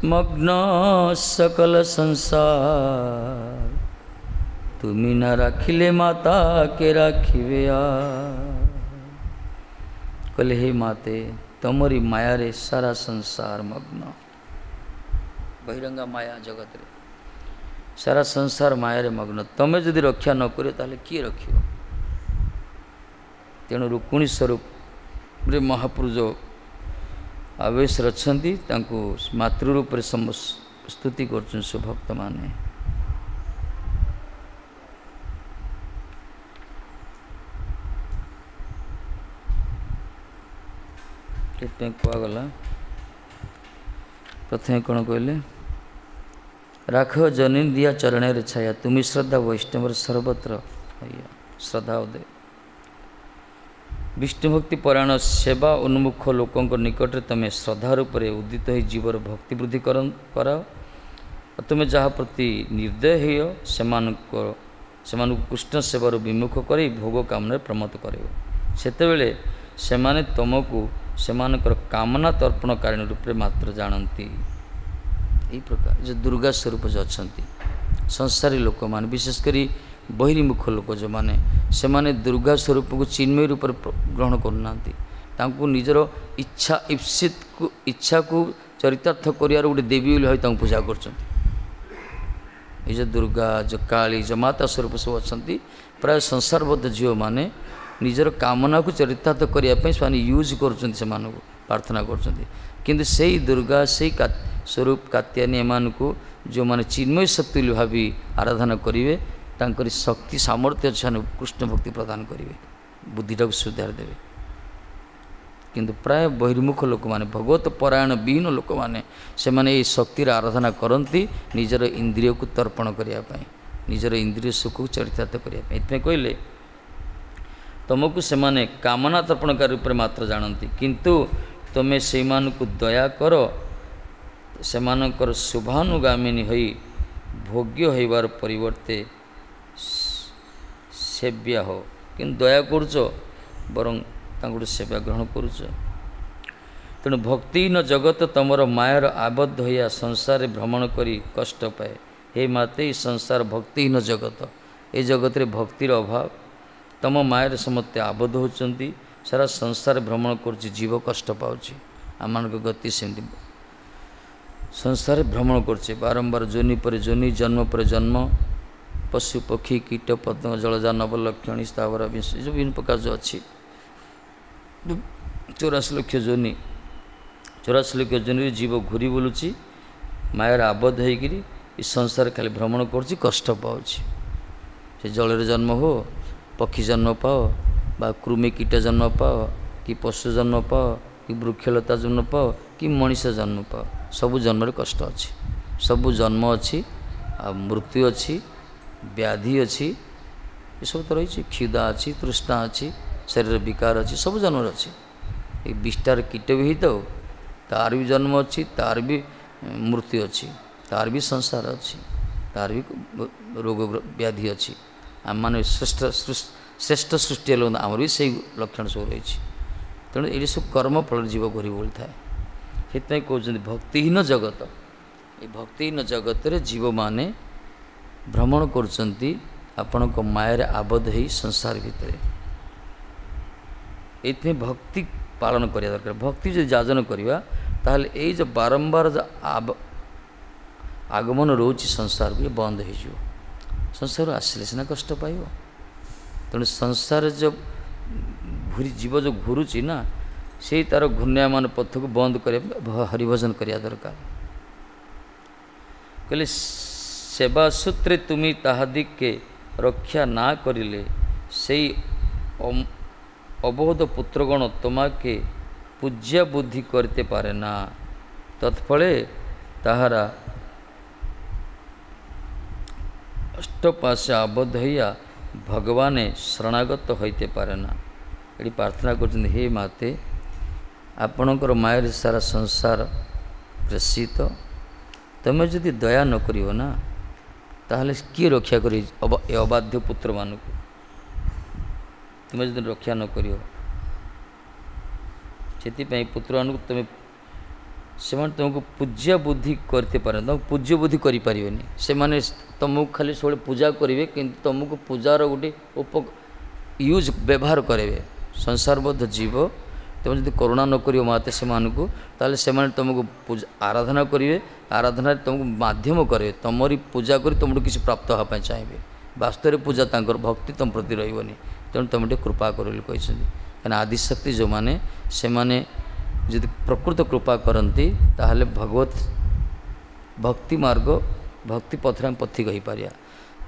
মগ্ন সকল সংসার, তুমি না রাখিলে মাতা কে রাখিবে আর। କହିଲେ ହେ ମାତେ, ତମରି ମାୟାରେ ସାରା ସଂସାର ମଗ୍ନ। ବହିରଙ୍ଗା ମାୟା ଜଗତରେ ସାରା ସଂସାର ମାୟାରେ ମଗ୍ନ। ତମେ ଯଦି ରକ୍ଷା ନ କରିବ ତାହେଲେ କିଏ ରଖିବ? ତେଣୁ ରୁକ୍ମିଣୀ ସ୍ୱରୂପରେ ମହାପୁରୁଷ ଆବେଶରେ ଅଛନ୍ତି, ତାଙ୍କୁ ମାତୃ ରୂପରେ ସ୍ତୁତି କରୁଛନ୍ତି ସବୁ ଭକ୍ତମାନେ। ସେଥିପାଇଁ କୁହାଗଲା ପ୍ରଥମେ କ'ଣ କହିଲେ? ରାଖ ଜନୀ ଦିଆ ଚରଣରେ ଛାୟା, ତୁମି ଶ୍ରଦ୍ଧା ବୈଷ୍ଣବର ସର୍ବତ୍ର ଶ୍ରଦ୍ଧା ଉଦୟ। ବିଷ୍ଣୁ ଭକ୍ତି ପରାୟଣ ସେବା ଉନ୍ମୁଖ ଲୋକଙ୍କ ନିକଟରେ ତୁମେ ଶ୍ରଦ୍ଧା ରୂପରେ ଉଦିତ ହୋଇ ଜୀବର ଭକ୍ତି ବୃଦ୍ଧି କରାଅ। ତୁମେ ଯାହା ପ୍ରତି ନିର୍ଦ୍ଦୟ ହେଅ ସେମାନଙ୍କ ସେମାନଙ୍କୁ କୃଷ୍ଣ ସେବାରୁ ବିମୁଖ କରି ଭୋଗ କାମନାରେ ପ୍ରମୋଦ କରିବ। ସେତେବେଳେ ସେମାନେ ତୁମକୁ ସେମାନଙ୍କର କାମନା ତର୍ପଣକାରିଣୀ ରୂପରେ ମାତ୍ର ଜାଣନ୍ତି। ଏହି ପ୍ରକାର ଯେଉଁ ଦୁର୍ଗା ସ୍ୱରୂପ ଯେଉଁ ଅଛନ୍ତି ସଂସାରୀ ଲୋକମାନେ, ବିଶେଷ କରି ବହିର୍ମୁଖ ଲୋକ ଯେଉଁମାନେ, ସେମାନେ ଦୁର୍ଗା ସ୍ୱରୂପକୁ ଚିନ୍ମୟ ରୂପରେ ଗ୍ରହଣ କରୁନାହାନ୍ତି। ତାଙ୍କୁ ନିଜର ଇଚ୍ଛା ଇପ୍ସିତକୁ ଇଚ୍ଛାକୁ ଚରିତାର୍ଥ କରିବାର ଗୋଟେ ଦେବୀ ବୋଲି ଭାବି ତାଙ୍କୁ ପୂଜା କରୁଛନ୍ତି। ଏଇ ଯେଉଁ ଦୁର୍ଗା, ଯେଉଁ କାଳୀ, ଯେଉଁ ମାତା ସ୍ୱରୂପ ସବୁ ଅଛନ୍ତି, ପ୍ରାୟ ସଂସାରବଦ୍ଧ ଝିଅମାନେ ନିଜର କାମନାକୁ ଚରିତାର୍ଥ କରିବା ପାଇଁ ସେମାନେ ୟୁଜ୍ କରୁଛନ୍ତି, ସେମାନଙ୍କୁ ପ୍ରାର୍ଥନା କରୁଛନ୍ତି। କିନ୍ତୁ ସେଇ ଦୁର୍ଗା, ସେଇ ସ୍ୱରୂପ କାତ୍ୟାୟନୀ ଏମାନଙ୍କୁ ଯେଉଁମାନେ ଚିନ୍ମୟ ଶକ୍ତି ବୋଲି ଭାବି ଆରାଧନା କରିବେ, ତାଙ୍କରି ଶକ୍ତି ସାମର୍ଥ୍ୟ ସେମାନେ କୃଷ୍ଣ ଭକ୍ତି ପ୍ରଦାନ କରିବେ, ବୁଦ୍ଧିଟାକୁ ସୁଧାରି ଦେବେ। କିନ୍ତୁ ପ୍ରାୟ ବହିର୍ମୁଖ ଲୋକମାନେ, ଭଗବତ ପରାୟଣ ବିହୀନ ଲୋକମାନେ, ସେମାନେ ଏଇ ଶକ୍ତିର ଆରାଧନା କରନ୍ତି ନିଜର ଇନ୍ଦ୍ରିୟକୁ ତର୍ପଣ କରିବା ପାଇଁ, ନିଜର ଇନ୍ଦ୍ରିୟ ସୁଖକୁ ଚରିତାର୍ଥ କରିବା ପାଇଁ। ଏଥିପାଇଁ କହିଲେ ତୁମକୁ ସେମାନେ କାମନା ତର୍ପଣକାରୀ ରୂପରେ ମାତ୍ର ଜାଣନ୍ତି, କିନ୍ତୁ ତୁମେ ସେଇମାନଙ୍କୁ ଦୟା କର, ସେମାନଙ୍କର ଶୁଭାନୁଗାମିନୀ ହୋଇ ଭୋଗ୍ୟ ହେବାର ପରିବର୍ତ୍ତେ ସେବ୍ୟ ହୋ। କିନ୍ତୁ ଦୟା କରୁଛ, ବରଂ ତାଙ୍କଠୁ ସେବା ଗ୍ରହଣ କରୁଛ। ତେଣୁ ଭକ୍ତିହୀନ ଜଗତ ତୁମର ମାୟାର ଆବଦ୍ଧ ହୋଇ ସଂସାରରେ ଭ୍ରମଣ କରି କଷ୍ଟ ପାଏ। ହେ ମାତେ, ଏ ସଂସାର ଭକ୍ତିହୀନ ଜଗତ, ଏ ଜଗତରେ ଭକ୍ତିର ଅଭାବ, ତୁମ ମାୟାରେ ସମସ୍ତେ ଆବଦ୍ଧ ହେଉଛନ୍ତି, ସାରା ସଂସାର ଭ୍ରମଣ କରୁଛି, ଜୀବ କଷ୍ଟ ପାଉଛି। ଆମମାନଙ୍କ ଗତି ସେମିତି ସଂସାରରେ ଭ୍ରମଣ କରୁଛେ, ବାରମ୍ବାର ଯୋନି ପରେ ଯୋନି, ଜନ୍ମ ପରେ ଜନ୍ମ, ପଶୁ ପକ୍ଷୀ କୀଟ ପତଙ୍ଗ ଜଳଜା ନବଲକ୍ଷଣୀ ସ୍ଥାବର ବିଂଶ, ଏ ଯେଉଁ ବିଭିନ୍ନ ପ୍ରକାର ଯେଉଁ ଅଛି ଚଉରାଶୀ ଲକ୍ଷ ଯୋନି, ଚଉରାଶୀ ଲକ୍ଷ ଯୋନିରେ ଜୀବ ଘୁରି ବୁଲୁଛି ମାୟାର ଆବଦ୍ଧ ହେଇକିରି, ଏ ସଂସାର ଖାଲି ଭ୍ରମଣ କରୁଛି, କଷ୍ଟ ପାଉଛି। ସେ ଜଳରେ ଜନ୍ମ ହୁଅ, ପକ୍ଷୀ ଜନ୍ମ ପାଅ, ବା କୃମି କୀଟ ଜନ୍ମ ପାଅ, କି ପଶୁ ଜନ୍ମ ପାଅ, କି ବୃକ୍ଷଲତା ଜନ୍ମ ପାଅ, କି ମଣିଷ ଜନ୍ମ ପାଅ, ସବୁ ଜନ୍ମରେ କଷ୍ଟ ଅଛି, ସବୁ ଜନ୍ମ ଅଛି, ଆଉ ମୃତ୍ୟୁ ଅଛି, ବ୍ୟାଧି ଅଛି, ଏସବୁ ତ ରହିଛି। କ୍ଷୁଧା ଅଛି, ତୃଷ୍ଣା ଅଛି, ଶରୀର ବିକାର ଅଛି, ସବୁ ଜନ୍ମରେ ଅଛି। ଏଇ ବିଷ୍ଠାର କୀଟ ବି ହେଇଥାଉ, ତାର ବି ଜନ୍ମ ଅଛି, ତାର ବି ମୃତ୍ୟୁ ଅଛି, ତାର ବି ସଂସାର ଅଛି, ତାର ବି ରୋଗ ବ୍ୟାଧି ଅଛି। ଆମମାନେ ଶ୍ରେଷ୍ଠ ଶ୍ରେଷ୍ଠ ସୃଷ୍ଟି ହେଲେ ଆମର ବି ସେଇ ଲକ୍ଷଣ ସବୁ ରହିଛି। ତେଣୁ ଏଇଠି ସବୁ କର୍ମ ଫଳରେ ଜୀବ ଘୁରି ବୁଲିଥାଏ। ସେଥିପାଇଁ କହୁଛନ୍ତି ଭକ୍ତିହୀନ ଜଗତ। ଏ ଭକ୍ତିହୀନ ଜଗତରେ ଜୀବମାନେ ଭ୍ରମଣ କରୁଛନ୍ତି ଆପଣଙ୍କ ମାୟାରେ ଆବଦ୍ଧ ହେଇ ସଂସାର ଭିତରେ। ଏଇଥିପାଇଁ ଭକ୍ତି ପାଳନ କରିବା ଦରକାର। ଭକ୍ତି ଯଦି ଯାଜନ କରିବା ତାହେଲେ ଏଇ ଯେଉଁ ବାରମ୍ବାର ଯେଉଁ ଆଗମନ ରହୁଛି ସଂସାରକୁ, ଇଏ ବନ୍ଦ ହେଇଯିବ। ସଂସାରରୁ ଆସିଲେ ସିନା କଷ୍ଟ ପାଇବ। ତେଣୁ ସଂସାର ଯେଉଁ ଘୁରି ଜୀବ ଯେଉଁ ଘୁରୁଛି ନା, ସେଇ ତା'ର ଘୂର୍ଣ୍ଣାୟମାନ ପଥକୁ ବନ୍ଦ କରିବା ହରିଭଜନ କରିବା ଦରକାର। କହିଲେ ସେବା ସୂତ୍ରେ ତୁମି ତାହାଦିକେ ରକ୍ଷା ନା କରିଲେ ସେଇ ଅବୋଧ ପୁତ୍ରଗଣ তোমাকে ପୂଜ୍ୟ ବୁଦ୍ଧି କରିତେ ପାରେ ନା, ତତ୍ଫଳେ ତାହାରା ଅଷ୍ଟପାଶେ ଆବଦ୍ଧ ହଇଆ ଭଗବାନେ ଶରଣାଗତ ହୋଇତେ ପାରେ ନା। ଏଠି ପ୍ରାର୍ଥନା କରୁଛନ୍ତି, ହେ ମାତେ, ଆପଣଙ୍କର ମାୟାରେ ସାରା ସଂସାର ପ୍ରେଷିତ, ତୁମେ ଯଦି ଦୟା ନ କରିବ ନା, ତାହେଲେ କିଏ ରକ୍ଷା କରିବ ଏ ଅବାଧ୍ୟ ପୁତ୍ରମାନଙ୍କୁ? ତୁମେ ଯଦି ରକ୍ଷା ନ କରିବ, ସେଥିପାଇଁ ପୁତ୍ରମାନଙ୍କୁ ତୁମେ ସେମାନେ ତୁମକୁ ପୂଜ୍ୟ ବୁଦ୍ଧି କରିତେ ପାରନ୍ତି, ତୁମକୁ ପୂଜ୍ୟ ବୁଦ୍ଧି କରିପାରିବେନି। ସେମାନେ ତୁମକୁ ଖାଲି ସବୁବେଳେ ପୂଜା କରିବେ, କିନ୍ତୁ ତୁମକୁ ପୂଜାର ଗୋଟେ ଉପ ୟୁଜ୍ ବ୍ୟବହାର କରିବେ। ସଂସାରବଦ୍ଧ ଜୀବ, ତୁମେ ଯଦି କରୁଣା ନ କରିବ ମାତେ ସେମାନଙ୍କୁ, ତାହେଲେ ସେମାନେ ତୁମକୁ ପୂଜା ଆରାଧନା କରିବେ, ଆରାଧନାରେ ତୁମକୁ ମାଧ୍ୟମ କରିବେ, ତୁମରି ପୂଜା କରି ତୁମଠୁ କିଛି ପ୍ରାପ୍ତ ହେବା ପାଇଁ ଚାହିଁବେ। ବାସ୍ତବରେ ପୂଜା ତାଙ୍କର ଭକ୍ତି ତୁମ ପ୍ରତି ରହିବନି। ତେଣୁ ତୁମେ ଟିକେ କୃପା କର ବୋଲି କହିଛନ୍ତି। କାହିଁକିନା ଆଦିଶକ୍ତି ଯେଉଁମାନେ, ସେମାନେ ଯଦି ପ୍ରକୃତ କୃପା କରନ୍ତି ତାହେଲେ ଭଗବତ ଭକ୍ତି ମାର୍ଗ ଭକ୍ତି ପଥରେ ଆମେ ପଥିକ ହୋଇପାରିବା।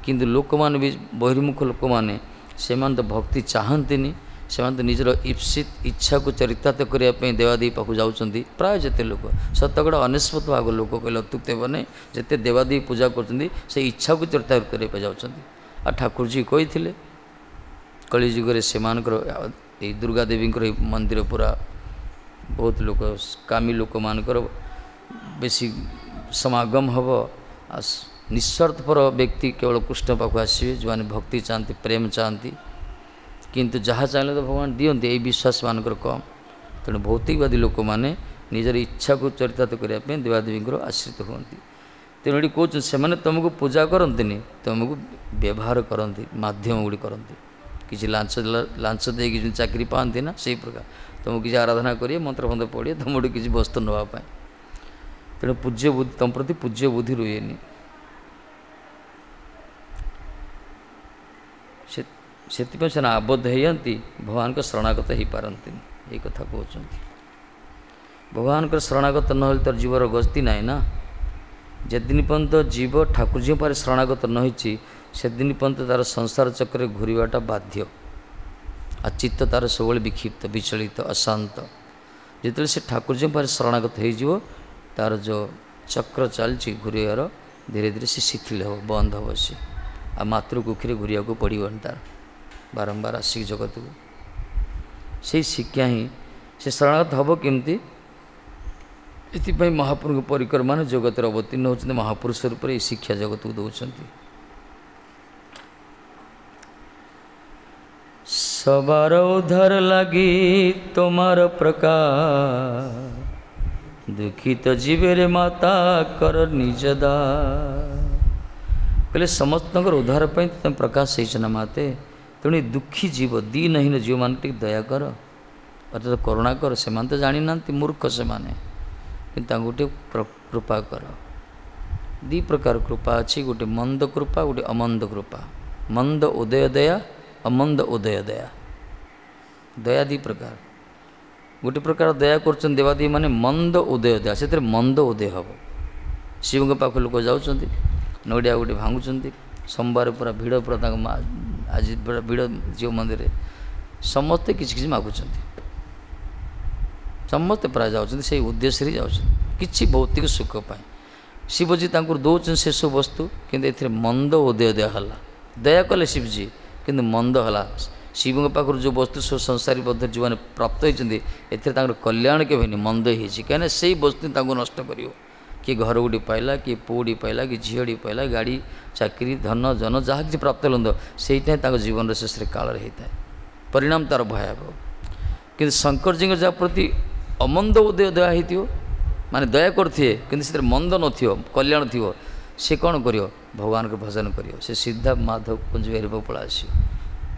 କିନ୍ତୁ ଲୋକମାନେ ବି ବହିର୍ମୁଖ ଲୋକମାନେ, ସେମାନେ ତ ଭକ୍ତି ଚାହାନ୍ତିନି, ସେମାନେ ତ ନିଜର ଇପ୍ସିତ ଇଚ୍ଛାକୁ ଚରିତାର୍ଥ କରିବା ପାଇଁ ଦେବାଦେବୀ ପାଖକୁ ଯାଉଛନ୍ତି। ପ୍ରାୟ ଯେତେ ଲୋକ, ଶତକଡ଼ା ଅନେଶତ ଭାଗ ଲୋକ କହିଲେ ଅତ୍ୟୁକ୍ତି ହେବ ନାହିଁ, ଯେତେ ଦେବାଦେବୀ ପୂଜା କରୁଛନ୍ତି ସେ ଇଚ୍ଛାକୁ ଚରିତାର୍ଥ କରିବା ପାଇଁ ଯାଉଛନ୍ତି। ଆଉ ଠାକୁରଜୀ କହିଥିଲେ କଳିଯୁଗରେ ସେମାନଙ୍କର ଏଇ ଦୁର୍ଗା ଦେବୀଙ୍କର ଏଇ ମନ୍ଦିର ପୁରା ବହୁତ ଲୋକ କାମୀ ଲୋକମାନଙ୍କର ବେଶୀ ସମାଗମ ହେବ। ଆଉ ନିଃସ୍ୱାର୍ଥପର ବ୍ୟକ୍ତି କେବଳ କୃଷ୍ଣ ପାଖକୁ ଆସିବେ, ଯେଉଁମାନେ ଭକ୍ତି ଚାହାନ୍ତି, ପ୍ରେମ ଚାହାନ୍ତି। କିନ୍ତୁ ଯାହା ଚାହିଁଲେ ତ ଭଗବାନ ଦିଅନ୍ତି, ଏଇ ବିଶ୍ୱାସ ମାନଙ୍କର କମ୍। ତେଣୁ ଭୌତିକବାଦୀ ଲୋକମାନେ ନିଜର ଇଚ୍ଛାକୁ ଚରିତାର୍ଥ କରିବା ପାଇଁ ଦେବାଦେବୀଙ୍କର ଆଶ୍ରିତ ହୁଅନ୍ତି। ତେଣୁ ଏଠି କହୁଛନ୍ତି ସେମାନେ ତୁମକୁ ପୂଜା କରନ୍ତିନି, ତୁମକୁ ବ୍ୟବହାର କରନ୍ତି, ମାଧ୍ୟମ ଗୁଡ଼ିକ କରନ୍ତି। କିଛି ଲାଞ୍ଚ ଲାଞ୍ଚ ଦେଇକି ଯେଉଁ ଚାକିରି ପାଆନ୍ତି ନା, ସେଇ ପ୍ରକାର ତୁମକୁ କିଛି ଆରାଧନା କରିବେ, ମନ୍ତ୍ର ଫନ୍ତ୍ର ପଢ଼ିବେ, ତୁମଠୁ କିଛି ବସ୍ତୁ ନେବା ପାଇଁ। ତେଣୁ ପୂଜ୍ୟ ବୁଦ୍ଧି ତୁମ ପ୍ରତି ପୂଜ୍ୟ ବୁଦ୍ଧି ରୁହେନି। ସେ ସେଥିପାଇଁ ସେମାନେ ଆବଦ୍ଧ ହେଇଯାନ୍ତି, ଭଗବାନଙ୍କ ଶରଣାଗତ ହେଇପାରନ୍ତିନି। ଏଇ କଥା କହୁଛନ୍ତି। ଭଗବାନଙ୍କର ଶରଣାଗତ ନହେଲେ ତାର ଜୀବର ଗତି ନାହିଁ ନା। ଯେଦିନ ପର୍ଯ୍ୟନ୍ତ ଜୀବ ଠାକୁରଜୀଙ୍କ ପାଖରେ ଶରଣାଗତ ନ ହେଇଛି, ସେଦିନ ପର୍ଯ୍ୟନ୍ତ ତା'ର ସଂସାର ଚକ୍ରରେ ଘୁରିବାଟା ବାଧ୍ୟ। ଆଉ ଚିତ୍ତ ତା'ର ସବୁବେଳେ ବିକ୍ଷିପ୍ତ, ବିଚଳିତ, ଅଶାନ୍ତ। ଯେତେବେଳେ ସେ ଠାକୁରଜୀଙ୍କ ପାଖରେ ଶରଣାଗତ ହେଇଯିବ, ତା'ର ଯେଉଁ ଚକ୍ର ଚାଲିଛି ଘୁରିବାର, ଧୀରେ ଧୀରେ ସେ ଶିଥିଳ ହେବ, ବନ୍ଦ ହେବ ସେ। ଆଉ ମାତୃକୁକ୍ଷରେ ଘୁରିବାକୁ ପଡ଼ିବନି ତା'ର ବାରମ୍ବାର ଆସିକି ଜଗତକୁ। ସେଇ ଶିକ୍ଷା ହିଁ ସେ ଶରଣାଗତ ହେବ କେମିତି? ଏଥିପାଇଁ ମହାପ୍ରଭୁଙ୍କ ପରିକ୍ରମାରେ ଜଗତରେ ଅବତୀର୍ଣ୍ଣ ହେଉଛନ୍ତି, ମହାପୁରୁଷ ରୂପରେ ଏଇ ଶିକ୍ଷା ଜଗତକୁ ଦେଉଛନ୍ତି। ସବାର ଉଦ୍ଧାର ଲାଗି তোমার প্রকাশ, ଦୁଃଖିତ ଜୀବରେ ମାତା କର ନିଜ ଦାନ। କହିଲେ ସମସ୍ତଙ୍କର ଉଦ୍ଧାର ପାଇଁ ତୁମେ ପ୍ରକାଶ ହେଇଛ ନା ମାତେ, ତେଣୁ ଏ ଦୁଃଖୀ ଜୀବ, ଦୀନହୀନ ଜୀବମାନଙ୍କୁ ଟିକେ ଦୟା କର, ଅର୍ଥାତ କରୁଣା କର। ସେମାନେ ତ ଜାଣିନାହାନ୍ତି, ମୂର୍ଖ ସେମାନେ, କିନ୍ତୁ ତାଙ୍କୁ ଟିକେ କୃପା କର। ଦୁଇ ପ୍ରକାର କୃପା ଅଛି, ଗୋଟେ ମନ୍ଦ କୃପା, ଗୋଟେ ଅମନ୍ଦ କୃପା। ମନ୍ଦ ଉଦୟ ଦୟା, ଅମନ୍ଦ ଉଦୟ ଦୟା। ଦୟା ଦୁଇ ପ୍ରକାର। ଗୋଟେ ପ୍ରକାର ଦୟା କରୁଛନ୍ତି ଦେବାଦେବୀ ମାନେ ମନ୍ଦ ଉଦୟ ଦୟା, ସେଥିରେ ମନ୍ଦ ଉଦୟ ହେବ। ଶିବଙ୍କ ପାଖକୁ ଲୋକ ଯାଉଛନ୍ତି, ନଡ଼ିଆ ଗୋଟେ ଭାଙ୍ଗୁଛନ୍ତି। ସୋମବାର ପୁରା ଭିଡ଼, ପୁରା ତାଙ୍କ ମା ଆଜି ପୁରା ଭିଡ଼ ଶିବ ମନ୍ଦିରରେ, ସମସ୍ତେ କିଛି କିଛି ମାଗୁଛନ୍ତି, ସମସ୍ତେ ପ୍ରାୟ ଯାଉଛନ୍ତି ସେଇ ଉଦ୍ଦେଶ୍ୟରେ ଯାଉଛନ୍ତି, କିଛି ଭୌତିକ ସୁଖ ପାଇଁ। ଶିବଜୀ ତାଙ୍କୁ ଦେଉଛନ୍ତି ସେସବୁ ବସ୍ତୁ, କିନ୍ତୁ ଏଥିରେ ମନ୍ଦ ଉଦୟ ଦୟା ହେଲା। ଦୟା କଲେ ଶିବଜୀ, କିନ୍ତୁ ମନ୍ଦ ହେଲା। ଶିବଙ୍କ ପାଖରୁ ଯେଉଁ ବସ୍ତୁ ସବୁ ସଂସାରୀ ବଦ୍ଧ ଯେଉଁମାନେ ପ୍ରାପ୍ତ ହୋଇଛନ୍ତି, ଏଥିରେ ତାଙ୍କର କଲ୍ୟାଣ କେବେ ହେଇନି, ମନ୍ଦ ହେଇଛି। କାହିଁକିନା ସେଇ ବସ୍ତୁ ତାଙ୍କୁ ନଷ୍ଟ କରିବ। କିଏ ଘର ଗୋଟେ ପାଇଲା, କିଏ ପୁଅଟି ପାଇଲା, କିଏ ଝିଅଟି ପାଇଲା, ଗାଡ଼ି, ଚାକିରି, ଧନ ଜନ ଯାହା କିଛି ପ୍ରାପ୍ତ ହେଲେ, ସେଇଟା ହିଁ ତାଙ୍କ ଜୀବନର ଶେଷରେ କାଳରେ ହେଇଥାଏ, ପରିଣାମ ତା'ର ଭୟାବହ। କିନ୍ତୁ ଶଙ୍କରଜୀଙ୍କ ଯାହା ପ୍ରତି ଅମନ୍ଦ ଉଦୟ ଦୟା ହେଇଥିବ, ମାନେ ଦୟା କରୁଥିବେ କିନ୍ତୁ ସେଥିରେ ମନ୍ଦ ନଥିବ, କଲ୍ୟାଣ ଥିବ, ସେ କ'ଣ କରିବ? ଭଗବାନଙ୍କ ଭଜନ କରିବ। ସେ ସିଧା ମାଧବ କୁଞ୍ଜ ବିହାରୀ ପାଖକୁ ପଳେଇ ଆସିବ।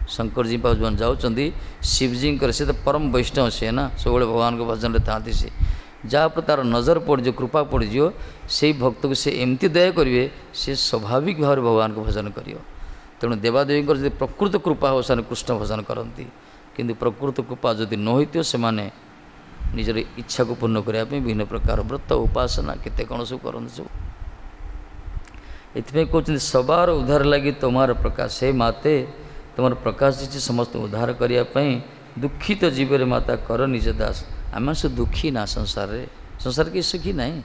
ଶଙ୍କରଜୀ ପାଖକୁ ଯେଉଁମାନେ ଯାଉଛନ୍ତି, ଶିବଜୀଙ୍କର ସେ ତ ପରମ ବୈଷ୍ଣବ ସିଏ ନା, ସବୁବେଳେ ଭଗବାନଙ୍କ ଭଜନରେ ଥାଆନ୍ତି। ସେ ଯାହା ଉପରେ ତା'ର ନଜର ପଡ଼ିଯିବ, କୃପା ପଡ଼ିଯିବ, ସେଇ ଭକ୍ତକୁ ସେ ଏମିତି ଦୟା କରିବେ, ସେ ସ୍ୱାଭାବିକ ଭାବରେ ଭଗବାନଙ୍କୁ ଭଜନ କରିବ। ତେଣୁ ଦେବାଦେବୀଙ୍କର ଯଦି ପ୍ରକୃତ କୃପା ହେବ, ସେମାନେ କୃଷ୍ଣ ଭଜନ କରନ୍ତି। କିନ୍ତୁ ପ୍ରକୃତ କୃପା ଯଦି ନ ହୋଇଥିବ, ସେମାନେ ନିଜର ଇଚ୍ଛାକୁ ପୂର୍ଣ୍ଣ କରିବା ପାଇଁ ବିଭିନ୍ନ ପ୍ରକାର ବ୍ରତ, ଉପାସନା, କେତେ କ'ଣ ସବୁ କରନ୍ତି ସବୁ। ଏଥିପାଇଁ କହୁଛନ୍ତି ସବାର ଉଦ୍ଧାର ଲାଗି ତୁମର ପ୍ରକାଶ। ହେ ମାତେ, ତୁମର ପ୍ରକାଶ ହେଇଛି ସମସ୍ତଙ୍କୁ ଉଦ୍ଧାର କରିବା ପାଇଁ। ଦୁଃଖିତ ଜୀବରେ ମାତା କର ନିଜ ଦାସ। ଆମେ ସବୁ ଦୁଃଖୀ ନା ସଂସାରରେ, ସଂସାର କେହି ସୁଖୀ ନାହିଁ।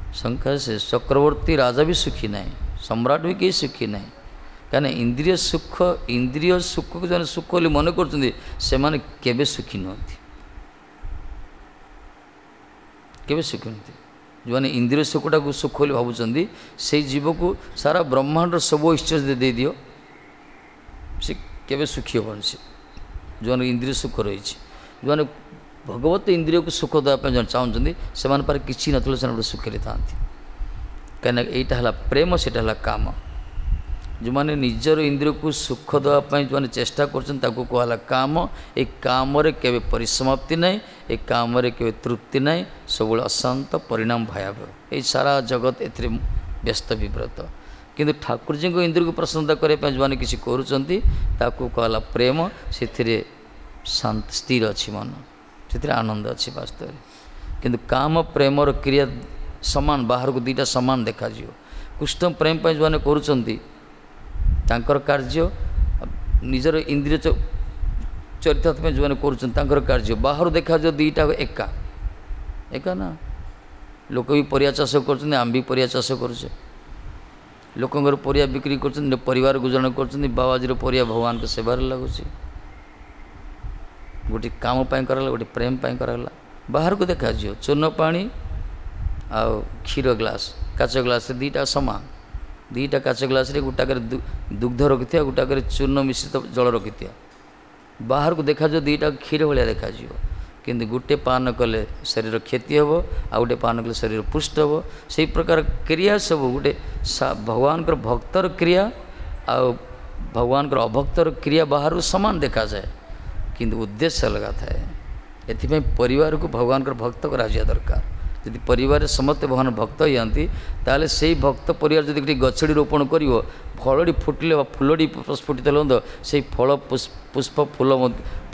ଶଙ୍ଖ ସେ ଚକ୍ରବର୍ତ୍ତୀ ରାଜା ବି ସୁଖୀ ନାହିଁ, ସମ୍ରାଟ ବି କେହି ସୁଖୀ ନାହିଁ। କାହିଁକିନା ଇନ୍ଦ୍ରିୟ ସୁଖ, ଇନ୍ଦ୍ରିୟ ସୁଖକୁ ଯେଉଁମାନେ ସୁଖ ବୋଲି ମନେ କରୁଛନ୍ତି, ସେମାନେ କେବେ ସୁଖୀ ନୁହନ୍ତି, କେବେ ସୁଖୀ ନୁହନ୍ତି। ଯେଉଁମାନେ ଇନ୍ଦ୍ରିୟ ସୁଖଟାକୁ ସୁଖ ବୋଲି ଭାବୁଛନ୍ତି, ସେଇ ଜୀବକୁ ସାରା ବ୍ରହ୍ମାଣ୍ଡର ସବୁ ଐଶ୍ୱର୍ଯ୍ୟ ଦେଇଦିଅ, ସେ କେବେ ସୁଖୀ ହେବନି। ସେ ଯେଉଁମାନେ ଇନ୍ଦ୍ରିୟ ସୁଖ ରହିଛି, ଯେଉଁମାନେ ଭଗବତ ଇନ୍ଦ୍ରିୟକୁ ସୁଖ ଦେବା ପାଇଁ ଯେଉଁମାନେ ଚାହୁଁଛନ୍ତି, ସେମାନେ ପାଖରେ କିଛି ନଥିଲେ ସେମାନେ ଗୋଟେ ସୁଖରେ ଥାଆନ୍ତି। କାହିଁକିନା ଏଇଟା ହେଲା ପ୍ରେମ, ସେଇଟା ହେଲା କାମ। ଯେଉଁମାନେ ନିଜର ଇନ୍ଦ୍ରିୟକୁ ସୁଖ ଦେବା ପାଇଁ ଯେଉଁମାନେ ଚେଷ୍ଟା କରୁଛନ୍ତି, ତାକୁ କୁହାହେଲା କାମ। ଏ କାମରେ କେବେ ପରିସମାପ୍ତି ନାହିଁ, ଏ କାମରେ କେବେ ତୃପ୍ତି ନାହିଁ, ସବୁବେଳେ ଅଶାନ୍ତ, ପରିଣାମ ଭୟାବହ। ଏଇ ସାରା ଜଗତ ଏଥିରେ ବ୍ୟସ୍ତ ବିବ୍ରତ। କିନ୍ତୁ ଠାକୁରଜୀଙ୍କ ଇନ୍ଦ୍ରିୟକୁ ପ୍ରସନ୍ନତା କରିବା ପାଇଁ ଯେଉଁମାନେ କିଛି କରୁଛନ୍ତି, ତାକୁ କୁହାହେଲା ପ୍ରେମ। ସେଥିରେ ଶାନ୍ତ ସ୍ଥିର ଅଛି ମନ, ସେଥିରେ ଆନନ୍ଦ ଅଛି ବାସ୍ତବରେ। କିନ୍ତୁ କାମ ପ୍ରେମର କ୍ରିୟା ସମାନ, ବାହାରକୁ ଦୁଇଟା ସମାନ ଦେଖାଯିବ। କୃଷ୍ଣ ପ୍ରେମ ପାଇଁ ଯେଉଁମାନେ କରୁଛନ୍ତି ତାଙ୍କର କାର୍ଯ୍ୟ, ନିଜର ଇନ୍ଦ୍ରିୟ ଚରିତାର୍ଥ ପାଇଁ ଯେଉଁମାନେ କରୁଛନ୍ତି ତାଙ୍କର କାର୍ଯ୍ୟ, ବାହାରୁ ଦେଖାଯିବ ଦୁଇଟା ଏକା ଏକା ନା। ଲୋକ ବି ପରିବା ଚାଷ କରୁଛନ୍ତି, ଆମେ ବି ପରିବା ଚାଷ କରୁଛେ। ଲୋକଙ୍କର ପରିବା ବିକ୍ରି କରୁଛନ୍ତି, ପରିବାର ଗୁଜୁରାଣ କରୁଛନ୍ତି। ବାବାଜୀର ପରିବା ଭଗବାନଙ୍କ ସେବାରେ ଲାଗୁଛି। ଗୋଟେ କାମ ପାଇଁ କରାଗଲା, ଗୋଟେ ପ୍ରେମ ପାଇଁ କରାଗଲା। ବାହାରକୁ ଦେଖାଯିବ ଚୂନ ପାଣି ଆଉ କ୍ଷୀର ଗ୍ଲାସ୍, କାଚ ଗ୍ଲାସ୍ରେ ଦୁଇଟା ସମାନ। ଦୁଇଟା କାଚ ଗ୍ଲାସ୍ରେ ଗୋଟାକରେ ଦୁଗ୍ଧ ରଖିଥିବା, ଗୋଟାକରେ ଚୂର୍ଣ୍ଣ ମିଶ୍ରିତ ଜଳ ରଖିଥିବା, ବାହାରକୁ ଦେଖାଯିବ ଦୁଇଟା କ୍ଷୀର ଭଳିଆ ଦେଖାଯିବ। କିନ୍ତୁ ଗୋଟେ ପାନ କଲେ ଶରୀର କ୍ଷତି ହେବ, ଆଉ ଗୋଟେ ପାନ କଲେ ଶରୀର ପୁଷ୍ଟ ହେବ। ସେଇ ପ୍ରକାର କ୍ରିୟା ସବୁ ଗୋଟେ ଭଗବାନଙ୍କର ଭକ୍ତର କ୍ରିୟା ଆଉ ଭଗବାନଙ୍କର ଅଭକ୍ତର କ୍ରିୟା ବାହାରୁ ସମାନ ଦେଖାଯାଏ, କିନ୍ତୁ ଉଦ୍ଦେଶ୍ୟ ଅଲଗା ଥାଏ। ଏଥିପାଇଁ ପରିବାରକୁ ଭଗବାନଙ୍କର ଭକ୍ତ କରାଯିବା ଦରକାର। ଯଦି ପରିବାରରେ ସମସ୍ତେ ଭଗବାନ ଭକ୍ତ ହେଇଯାଆନ୍ତି, ତାହେଲେ ସେଇ ଭକ୍ତ ପରିବାର ଯଦି ଗୋଟେ ଗଛଟି ରୋପଣ କରିବ, ଫଳଟି ଫୁଟିଲେ ବା ଫୁଲଟି ପ୍ରସ୍ଫୁଟିତ ହେଲେ ମଧ୍ୟ ସେଇ ଫଳ ପୁଷ୍ପ ଫୁଲ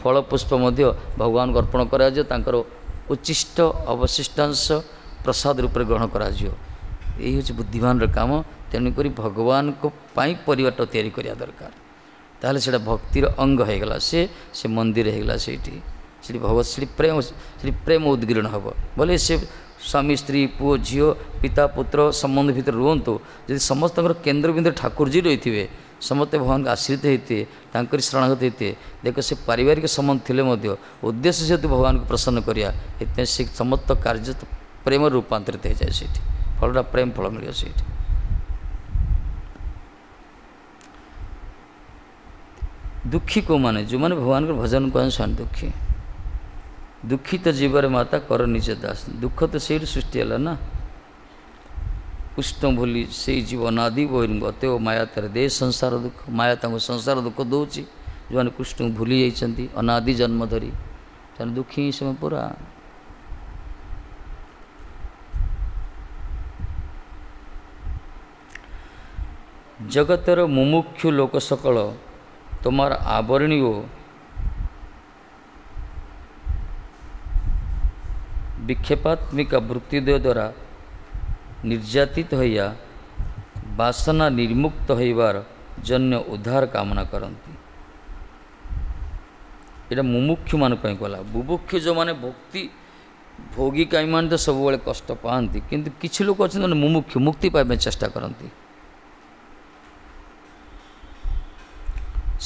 ଫଳ ପୁଷ୍ପ ମଧ୍ୟ ଭଗବାନଙ୍କୁ ଅର୍ପଣ କରାଯିବ, ତାଙ୍କର ଉଚ୍ଚିଷ୍ଟ ଅବଶିଷ୍ଟାଂଶ ପ୍ରସାଦ ରୂପରେ ଗ୍ରହଣ କରାଯିବ। ଏଇ ହେଉଛି ବୁଦ୍ଧିମାନର କାମ। ତେଣୁକରି ଭଗବାନଙ୍କ ପାଇଁ ପରିବାରଟା ତିଆରି କରିବା ଦରକାର। ତାହେଲେ ସେଇଟା ଭକ୍ତିର ଅଙ୍ଗ ହେଇଗଲା, ସେ ସେ ମନ୍ଦିର ହେଇଗଲା। ସେଇଠି ସେଠି ଭଗବତ ସେଠି ପ୍ରେମ, ସେଠି ପ୍ରେମ ଉଦ୍ଗୀରଣ ହେବ। ବୋଲେ ସେ ସ୍ୱାମୀ ସ୍ତ୍ରୀ ପୁଅ ଝିଅ ପିତା ପୁତ୍ର ସମ୍ବନ୍ଧ ଭିତରେ ରୁହନ୍ତୁ, ଯଦି ସମସ୍ତଙ୍କର କେନ୍ଦ୍ରବିନ୍ଦୁରେ ଠାକୁରଜୀ ରହିଥିବେ, ସମସ୍ତେ ଭଗବାନଙ୍କ ଆଶ୍ରିତ ହେଇଥିବେ, ତାଙ୍କରି ଶରଣାଗତ ହେଇଥିବେ, ଦେଖ ସେ ପାରିବାରିକ ସମ୍ବନ୍ଧ ଥିଲେ ମଧ୍ୟ ଉଦ୍ଦେଶ୍ୟ ଯେହେତୁ ଭଗବାନଙ୍କୁ ପ୍ରସନ୍ନ କରିବା, ଏଥିପାଇଁ ସେ ସମସ୍ତ କାର୍ଯ୍ୟ ପ୍ରେମରେ ରୂପାନ୍ତରିତ ହେଇଯାଏ। ସେଇଠି ଫଳଟା ପ୍ରେମ ଫଳ ମିଳିବ ସେଇଠି। ଦୁଃଖୀ କେଉଁମାନେ? ଯେଉଁମାନେ ଭଗବାନଙ୍କର ଭଜନ କରନ୍ତି ସେମାନେ ଦୁଃଖୀ। ଦୁଃଖିତ ଜୀବରେ ମାତା କର ନିଜ ଦାସ। ଦୁଃଖ ତ ସେଇଠୁ ସୃଷ୍ଟି ହେଲା ନା। କୃଷ୍ଣ ଭୁଲି ସେଇ ଜୀବ ଅନାଦି ବହିର୍ଗତ ମାୟା ତାର ଦେ ସଂସାର ଦୁଃଖ। ମାୟା ତାଙ୍କୁ ସଂସାର ଦୁଃଖ ଦେଉଛି। ଯେଉଁମାନେ କୃଷ୍ଣଙ୍କୁ ଭୁଲି ଯାଇଛନ୍ତି ଅନାଦି ଜନ୍ମ ଧରି, ସେମାନେ ଦୁଃଖୀ ସେମାନେ ପୁରା। ଜଗତର ମୁମୁକ୍ଷୁ ଲୋକ ସକଳ তোমার ଆବରଣୀ ଓ ବିକ୍ଷେପାତ୍ମିକା ବୃତ୍ତିଦ୍ୱୟ ଦ୍ୱାରା ନିର୍ଯାତିତ ହଇଆ ବାସନା ନିର୍ମୁକ୍ତ ହେବାର ଜନ୍ୟ ଉଦ୍ଧାର କାମନା କରନ୍ତି। ଏଇଟା ମୁମୁକ୍ଷୁମାନଙ୍କ ପାଇଁ ଗଲା। ବୁଭୁକ୍ଷୁ ଯେଉଁମାନେ ଭକ୍ତି ଭୋଗୀ କାଇମାନେ ତ ସବୁବେଳେ କଷ୍ଟ ପାଆନ୍ତି, କିନ୍ତୁ କିଛି ଲୋକ ଅଛନ୍ତି ମାନେ ମୁମୁକ୍ଷୁ ମୁକ୍ତି ପାଇବା ପାଇଁ ଚେଷ୍ଟା କରନ୍ତି।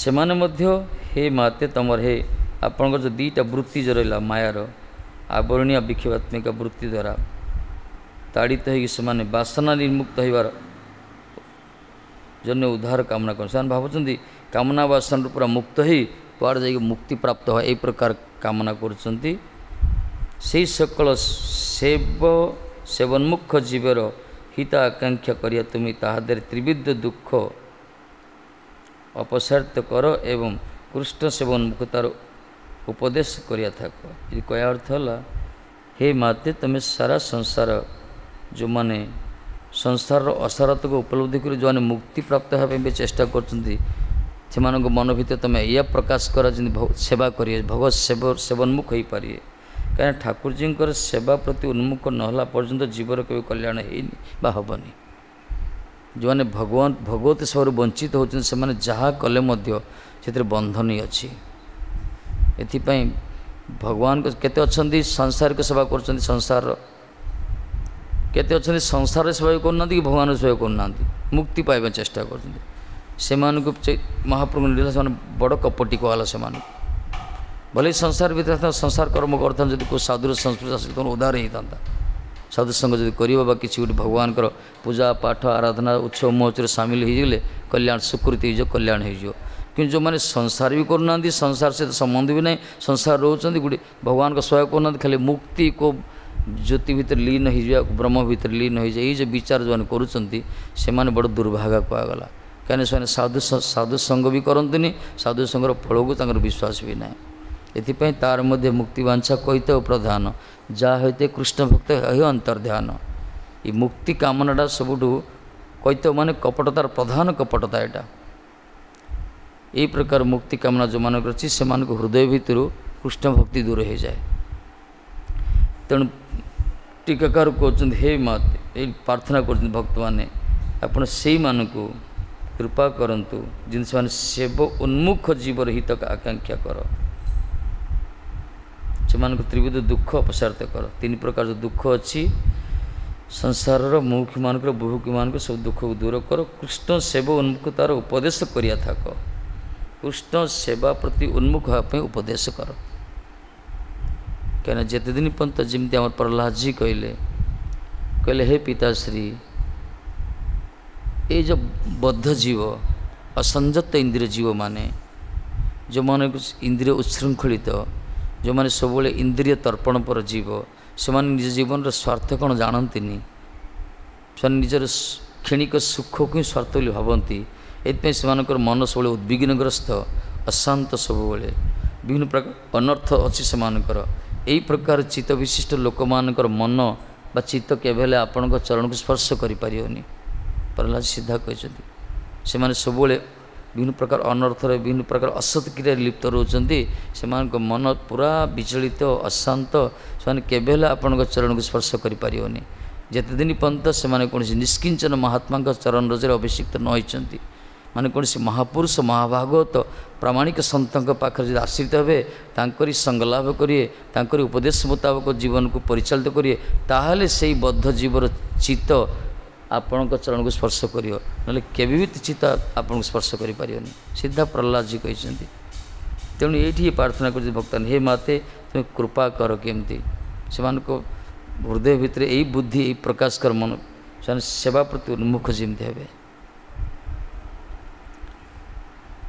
ସେମାନେ ମଧ୍ୟ ହେ ମାତେ ତୁମର ହେ ଆପଣଙ୍କର ଯେଉଁ ଦୁଇଟା ବୃତ୍ତି ଯେଉଁ ରହିଲା ମାୟାର ଆବରଣୀୟ ବିକ୍ଷେପାତ୍ମିକା ବୃତ୍ତି ଦ୍ୱାରା ତାଡ଼ିତ ହେଇକି ସେମାନେ ବାସନା ନିର୍ମୁକ୍ତ ହେବାର ଜନ୍ୟ ଉଦ୍ଧାର କାମନା କରନ୍ତି। ସେମାନେ ଭାବୁଛନ୍ତି କାମନା ବାସନାରୁ ପୁରା ମୁକ୍ତ ହେଇ କୁଆଡ଼େ ଯାଇକି ମୁକ୍ତି ପ୍ରାପ୍ତ হয়, ଏଇ ପ୍ରକାର କାମନା କରୁଛନ୍ତି। ସେଇ ସକଳ ସେବ ସେବନ୍ମୁଖ ଜୀବର ହିତ ଆକାଂକ୍ଷା କରିବା ତୁମେ ତାହା ଦେହରେ ତ୍ରିବିଧ ଦୁଃଖ ଅପସାରିତ କର ଏବଂ କୃଷ୍ଣ ସେବନ୍ମୁଖ ତାର ଉପଦେଶ କରିବା ଥାକ। ଏ କହିବା ଅର୍ଥ ହେଲା ହେ ମାତେ, ତୁମେ ସାରା ସଂସାର ଯେଉଁମାନେ ସଂସାରର ଅସାରତାକୁ ଉପଲବ୍ଧି କରି ଯେଉଁମାନେ ମୁକ୍ତି ପ୍ରାପ୍ତ ହେବା ପାଇଁ ବି ଚେଷ୍ଟା କରୁଛନ୍ତି, ସେମାନଙ୍କ ମନ ଭିତରେ ତୁମେ ଏଇଆ ପ୍ରକାଶ କର ଯେମିତି ସେବା କରିବେ, ଭଗବତ ସେବ ସେବନ୍ମୁଖ ହେଇପାରିବେ। କାହିଁକିନା ଠାକୁରଜୀଙ୍କର ସେବା ପ୍ରତି ଉନ୍ମୁଖ ନହେଲା ପର୍ଯ୍ୟନ୍ତ ଜୀବର କେବେ କଲ୍ୟାଣ ହେଇନି ବା ହେବନି। ଯେଉଁମାନେ ଭଗବାନ ଭଗବତ ସେବାରୁ ବଞ୍ଚିତ ହେଉଛନ୍ତି ସେମାନେ ଯାହା କଲେ ମଧ୍ୟ ସେଥିରେ ବନ୍ଧନ ହିଁ ଅଛି। ଏଥିପାଇଁ ଭଗବାନଙ୍କ କେତେ ଅଛନ୍ତି ସାଂସାରିକ ସେବା କରୁଛନ୍ତି, ସଂସାରର କେତେ ଅଛନ୍ତି ସଂସାରର ସେବା ବି କରୁନାହାନ୍ତି କି ଭଗବାନଙ୍କ ସେବା କରୁନାହାନ୍ତି, ମୁକ୍ତି ପାଇବା ଚେଷ୍ଟା କରୁଛନ୍ତି। ସେମାନଙ୍କୁ ମହାପ୍ରଭୁ ଲୀଳା ସେମାନେ ବଡ଼ କପଟି କୁହାଗଲା ସେମାନଙ୍କୁ। ଭଲେ ସଂସାର ଭିତରେ ସଂସାର କର୍ମ କରିଥାନ୍ତି, ଯଦି କେଉଁ ସାଧୁର ସଂସ୍ପର୍ଶ ଆସିଲେ ତେଣୁ ଉଦ୍ଧାର ହେଇଥାନ୍ତା। ସାଧୁ ସଙ୍ଗ ଯଦି କରିବ ବା କିଛି ଗୋଟେ ଭଗବାନଙ୍କର ପୂଜା ପାଠ ଆରାଧନା ଉତ୍ସବ ମହୋତ୍ସବରେ ସାମିଲ ହେଇଗଲେ କଲ୍ୟାଣ ସ୍ୱୀକୃତି ହେଇଯିବ, କଲ୍ୟାଣ ହେଇଯିବ। କିନ୍ତୁ ଯେଉଁମାନେ ସଂସାର ବି କରୁନାହାନ୍ତି, ସଂସାର ସହିତ ସମ୍ବନ୍ଧ ବି ନାହିଁ, ସଂସାର ରହୁଛନ୍ତି, ଗୋଟେ ଭଗବାନଙ୍କ ସେବା କରୁନାହାନ୍ତି, ଖାଲି ମୁକ୍ତି କେଉଁ ଜ୍ୟୋତି ଭିତରେ ଲୀନ ହେଇଯିବା, ବ୍ରହ୍ମ ଭିତରେ ଲୀନ ହେଇଯିବା, ଏଇ ଯେଉଁ ବିଚାର ଯେଉଁମାନେ କରୁଛନ୍ତି ସେମାନେ ବଡ଼ ଦୁର୍ଭାଗା କୁହାଗଲା। କାହିଁକିନା ସେମାନେ ସାଧୁ ସାଧୁ ସଙ୍ଗ ବି କରନ୍ତିନି, ସାଧୁ ସଙ୍ଗର ଫଳକୁ ତାଙ୍କର ବିଶ୍ୱାସ ବି ନାହିଁ। ଏଥିପାଇଁ ତାର ମଧ୍ୟ ମୁକ୍ତି ବାଞ୍ଛା କହିତେ ପ୍ରଧାନ, ଯାହା ହୋଇତେ କୃଷ୍ଣ ଭକ୍ତ ହେଉ ଅନ୍ତର୍ଧ୍ୟାନ। ଏ ମୁକ୍ତି କାମନାଟା ସବୁଠୁ କୈତ ମାନେ କପଟତାର ପ୍ରଧାନ କପଟତା ଏଇଟା। ଏଇ ପ୍ରକାର ମୁକ୍ତି କାମନା ଯେଉଁମାନଙ୍କର ଅଛି ସେମାନଙ୍କ ହୃଦୟ ଭିତରୁ କୃଷ୍ଣ ଭକ୍ତି ଦୂର ହେଇଯାଏ। ତେଣୁ ଟୀକାକାର କହୁଛନ୍ତି ହେ ମାତେ, ଏଇ ପ୍ରାର୍ଥନା କରୁଛନ୍ତି ଭକ୍ତମାନେ, ଆପଣ ସେଇମାନଙ୍କୁ କୃପା କରନ୍ତୁ ଯେମିତି ସେମାନେ ସେବ ଉନ୍ମୁଖ ଜୀବର ହିତ ଆକାଂକ୍ଷା କର, ସେମାନଙ୍କୁ ତ୍ରିବିଧ ଦୁଃଖ ଅପସାରିତ କର। ତିନି ପ୍ରକାର ଯେଉଁ ଦୁଃଖ ଅଛି ସଂସାରର, ମୁମୁକ୍ଷୁମାନଙ୍କର ବୁଭୁକ୍ଷୁମାନଙ୍କର ସବୁ ଦୁଃଖକୁ ଦୂର କର। କୃଷ୍ଣ ସେବ ଉନ୍ମୁଖ ତାର ଉପଦେଶ କରିବା ଥାକ, କୃଷ୍ଣ ସେବା ପ୍ରତି ଉନ୍ମୁଖ ହେବା ପାଇଁ ଉପଦେଶ କର। କାହିଁକିନା ଯେତେ ଦିନ ପର୍ଯ୍ୟନ୍ତ ଯେମିତି ଆମର ପ୍ରହ୍ଲାଦଜୀ କହିଲେ କହିଲେ ହେ ପିତାଶ୍ରୀ, ଏଇ ଯେଉଁ ବଦ୍ଧ ଜୀବ ଅସଂଯତ ଇନ୍ଦ୍ରିୟ ଜୀବମାନେ, ଯେଉଁମାନଙ୍କୁ ଇନ୍ଦ୍ରିୟ ଉଚ୍ଛୃଙ୍ଖଳିତ, ଯେଉଁମାନେ ସବୁବେଳେ ଇନ୍ଦ୍ରିୟ ତର୍ପଣ ପର ଜୀବ, ସେମାନେ ନିଜ ଜୀବନର ସ୍ୱାର୍ଥ କ'ଣ ଜାଣନ୍ତିନି, ସେମାନେ ନିଜର କ୍ଷଣିକ ସୁଖକୁ ହିଁ ସ୍ୱାର୍ଥ ବୋଲି ଭାବନ୍ତି। ଏଥିପାଇଁ ସେମାନଙ୍କର ମନ ସବୁବେଳେ ଉଦ୍ବିଗ୍ନଗ୍ରସ୍ତ, ଅଶାନ୍ତ, ସବୁବେଳେ ବିଭିନ୍ନ ପ୍ରକାର ଅନର୍ଥ ଅଛି ସେମାନଙ୍କର। ଏଇ ପ୍ରକାର ଚିତ୍ତ ବିଶିଷ୍ଟ ଲୋକମାନଙ୍କର ମନ ବା ଚିତ୍ତ କେବେ ହେଲେ ଆପଣଙ୍କ ଚରଣକୁ ସ୍ପର୍ଶ କରିପାରିବନି। ପ୍ରହ୍ଲାଦ ସିଧା କହିଛନ୍ତି ସେମାନେ ସବୁବେଳେ ବିଭିନ୍ନ ପ୍ରକାର ଅନର୍ଥରେ ବିଭିନ୍ନ ପ୍ରକାର ଅସତ୍ କ୍ରିୟାରେ ଲିପ୍ତ ରହୁଛନ୍ତି, ସେମାନଙ୍କ ମନ ପୁରା ବିଚଳିତ ଅଶାନ୍ତ, ସେମାନେ କେବେ ହେଲେ ଆପଣଙ୍କ ଚରଣକୁ ସ୍ପର୍ଶ କରିପାରିବନି। ଯେତେ ଦିନ ପର୍ଯ୍ୟନ୍ତ ସେମାନେ କୌଣସି ନିଷ୍କିଞ୍ଚନ ମହାତ୍ମାଙ୍କ ଚରଣ ରଜରେ ଅଭିଷିକ୍ତ ନ ହୋଇଛନ୍ତି, ମାନେ କୌଣସି ମହାପୁରୁଷ ମହାଭାଗବତ ପ୍ରାମାଣିକ ସନ୍ଥଙ୍କ ପାଖରେ ଯଦି ଆଶ୍ରିତ ହେବେ, ତାଙ୍କରି ସଙ୍ଗଲାଭ କରିବେ, ତାଙ୍କରି ଉପଦେଶ ମୁତାବକ ଜୀବନକୁ ପରିଚାଳିତ କରିବେ, ତାହେଲେ ସେଇ ବଦ୍ଧ ଜୀବର ଚିତ୍ତ ଆପଣଙ୍କ ଚରଣକୁ ସ୍ପର୍ଶ କରିବ, ନହେଲେ କେବେ ବି ଚିତ୍ତ ଆପଣଙ୍କୁ ସ୍ପର୍ଶ କରିପାରିବନି। ସିଧା ପ୍ରହ୍ଲାଦଜୀ କହିଛନ୍ତି। ତେଣୁ ଏଇଠି ପ୍ରାର୍ଥନା କରୁଛି ଭକ୍ତମାନେ, ହେ ମାତେ ତୁମେ କୃପା କର କେମିତି ସେମାନଙ୍କ ହୃଦୟ ଭିତରେ ଏଇ ବୁଦ୍ଧି ଏଇ ପ୍ରକାଶ କର ମନ, ସେମାନେ ସେବା ପ୍ରତି ଉନ୍ମୁଖ ଯେମିତି ହେବେ।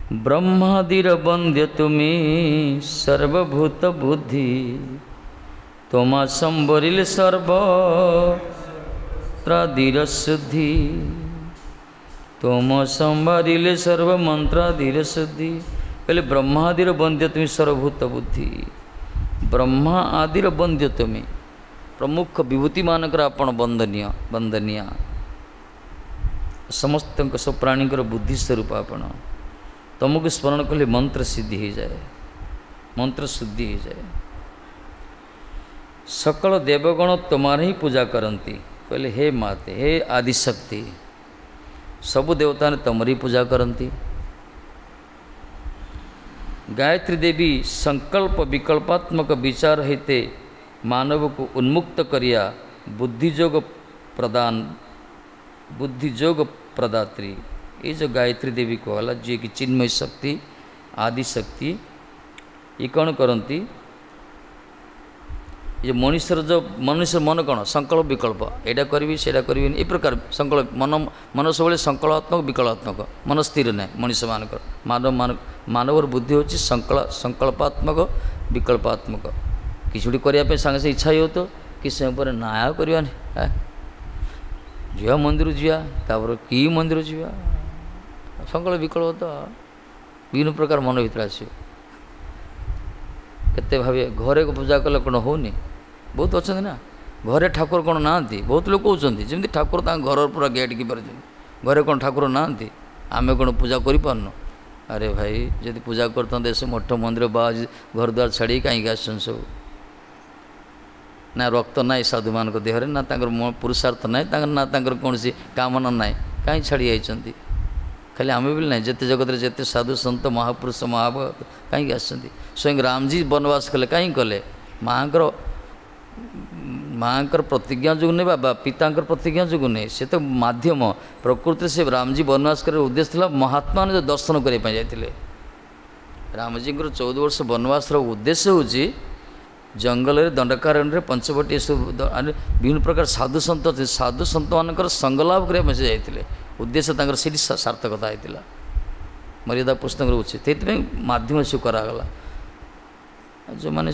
ବ୍ରହ୍ମାଦିର ବନ୍ଦ୍ୟ ତୁମି ସର୍ବଭୂତ ବୁଦ୍ଧି, তোমা সম্বরিলে সর্ব ত্রাদির শুদ্ধি, তোম সম্ভারিলে সর্ব মন্ত্রাদির শুদ্ধি। କହିଲେ ବ୍ରହ୍ମାଦିର ବନ୍ଦ୍ୟ ତୁମି ସର୍ବଭୂତ ବୁଦ୍ଧି, ବ୍ରହ୍ମା ଆଦିର ବନ୍ଦ୍ୟ ତୁମେ, ପ୍ରମୁଖ ବିଭୂତିମାନଙ୍କର ଆପଣ ବନ୍ଦନୀୟ ବନ୍ଦନୀୟ, ସମସ୍ତଙ୍କ ସବୁ ପ୍ରାଣୀଙ୍କର ବୁଦ୍ଧି ସ୍ୱରୂପ ଆପଣ। ତୁମକୁ ସ୍ମରଣ କଲେ ମନ୍ତ୍ର ସିଦ୍ଧି ହେଇଯାଏ, ମନ୍ତ୍ର ଶୁଦ୍ଧି ହେଇଯାଏ। ସକଳ ଦେବଗଣ ତୁମର ହିଁ ପୂଜା କରନ୍ତି। କହିଲେ ହେ ମାତେ, ହେ ଆଦିଶକ୍ତି, ସବୁ ଦେବତାମାନେ ତମରି ପୂଜା କରନ୍ତି। ଗାୟତ୍ରୀ ଦେବୀ ସଂକଳ୍ପ ବିକଳ୍ପାତ୍ମକ ବିଚାର ହେଇତେ ମାନବକୁ ଉନ୍ମୁକ୍ତ କରିବା ବୁଦ୍ଧିଯୋଗ ପ୍ରଦାନ, ବୁଦ୍ଧିଯୋଗ ପ୍ରଦାତ୍ରୀ। ଏଇ ଯେଉଁ ଗାୟତ୍ରୀ ଦେବୀ କୁହାଗଲା, ଯିଏକି ଚିନ୍ମୟ ଶକ୍ତି, ଆଦିଶକ୍ତି, ଇଏ କ'ଣ କରନ୍ତି? ଏ ମଣିଷର ଯେଉଁ ମନୁଷ୍ୟ ମନ କ'ଣ ସଂକଳ୍ପ ବିକଳ୍ପ, ଏଇଟା କରିବି ସେଇଟା କରିବିନି, ଏ ପ୍ରକାର ସଂକଳ୍ପ ମନ, ମନ ସବୁବେଳେ ସଂକଳ୍ପାତ୍ମକ ବିକଳ୍ପାତ୍ମକ, ମନ ସ୍ଥିର ନାହିଁ ମଣିଷମାନଙ୍କର। ମାନବ ମାନବର ବୁଦ୍ଧି ହେଉଛି ସଂକଳ୍ପାତ୍ମକ ବିକଳ୍ପାତ୍ମକ। କିଛି ଗୋଟେ କରିବା ପାଇଁ ସାଙ୍ଗେ ସାଙ୍ଗେ ଇଚ୍ଛା ହେଉଥିବ, କିଛି ସମୟ ପରେ ନା ଆଉ କରିବାନି, ଯିବା ମନ୍ଦିର ଯିବା, ତାପରେ କି ମନ୍ଦିର ଯିବା, ସଂକଳ୍ପ ବିକଳ୍ପ ତ ବିଭିନ୍ନ ପ୍ରକାର ମନ ଭିତରେ ଆସିବ। କେତେ ଭାବିବେ ଘରେ ପୂଜା କଲେ କ'ଣ ହେଉନି? ବହୁତ ଅଛନ୍ତି ନା ଘରେ ଠାକୁର କ'ଣ ନାହାନ୍ତି? ବହୁତ ଲୋକ କହୁଛନ୍ତି ଯେମିତି ଠାକୁର ତାଙ୍କ ଘରର ପୁରା ଗେଟ୍ କି ପାରୁଛନ୍ତି, ଘରେ କ'ଣ ଠାକୁର ନାହାନ୍ତି? ଆମେ କ'ଣ ପୂଜା କରିପାରୁନୁ? ଆରେ ଭାଇ, ଯଦି ପୂଜା କରିଥାନ୍ତେ ସେ ମଠ ମନ୍ଦିର ବା ଘର ଦ୍ୱାର ଛାଡ଼ିକି କାହିଁକି ଆସିଛନ୍ତି ସବୁ? ନା ରକ୍ତ ନାହିଁ ସାଧୁମାନଙ୍କ ଦେହରେ, ନା ତାଙ୍କର ପୁରୁଷାର୍ଥ ନାହିଁ, ତାଙ୍କର ନା ତାଙ୍କର କୌଣସି କାମନା ନାହିଁ, କାହିଁ ଛାଡ଼ି ଯାଇଛନ୍ତି? ଖାଲି ଆମେ ବୋଲି ନାହିଁ, ଯେତେ ଜଗତରେ ଯେତେ ସାଧୁ ସନ୍ଥ ମହାପୁରୁଷ ମହାଭଗତ କାହିଁକି ଆସିଛନ୍ତି? ସ୍ୱୟଂ ରାମଜୀ ବନବାସ କଲେ, କାହିଁକି କଲେ? ମାଆଙ୍କର ମାଆଙ୍କର ପ୍ରତିଜ୍ଞା ଯୋଗୁଁ ନୁହେଁ ବା ପିତାଙ୍କର ପ୍ରତିଜ୍ଞା ଯୋଗୁଁ ନୁହେଁ, ସେ ତ ମାଧ୍ୟମ। ପ୍ରକୃତିରେ ସେ ରାମଜୀ ବନବାସ କରିବାର ଉଦ୍ଦେଶ୍ୟ ଥିଲା ମହାତ୍ମା ଦର୍ଶନ କରିବା ପାଇଁ ଯାଇଥିଲେ। ରାମଜୀଙ୍କର ଚଉଦ ବର୍ଷ ବନବାସର ଉଦ୍ଦେଶ୍ୟ ହେଉଛି ଜଙ୍ଗଲରେ ଦଣ୍ଡକାରଣ୍ୟରେ ପଞ୍ଚବଟୀ ଏସବୁ ବିଭିନ୍ନ ପ୍ରକାର ସାଧୁ ସନ୍ଥ ଅଛନ୍ତି, ସାଧୁ ସନ୍ଥମାନଙ୍କର ସଙ୍ଗଲାଭ କରିବା ପାଇଁ ସେ ଯାଇଥିଲେ। ଉଦ୍ଦେଶ୍ୟ ତାଙ୍କର ସେଇଠି ସାର୍ଥକତା ହେଇଥିଲା, ମର୍ଯ୍ୟାଦା ପୁସ୍ତକର ଉଚିତ, ସେଇଥିପାଇଁ ମାଧ୍ୟମ ସେ କରାଗଲା। ଯେଉଁମାନେ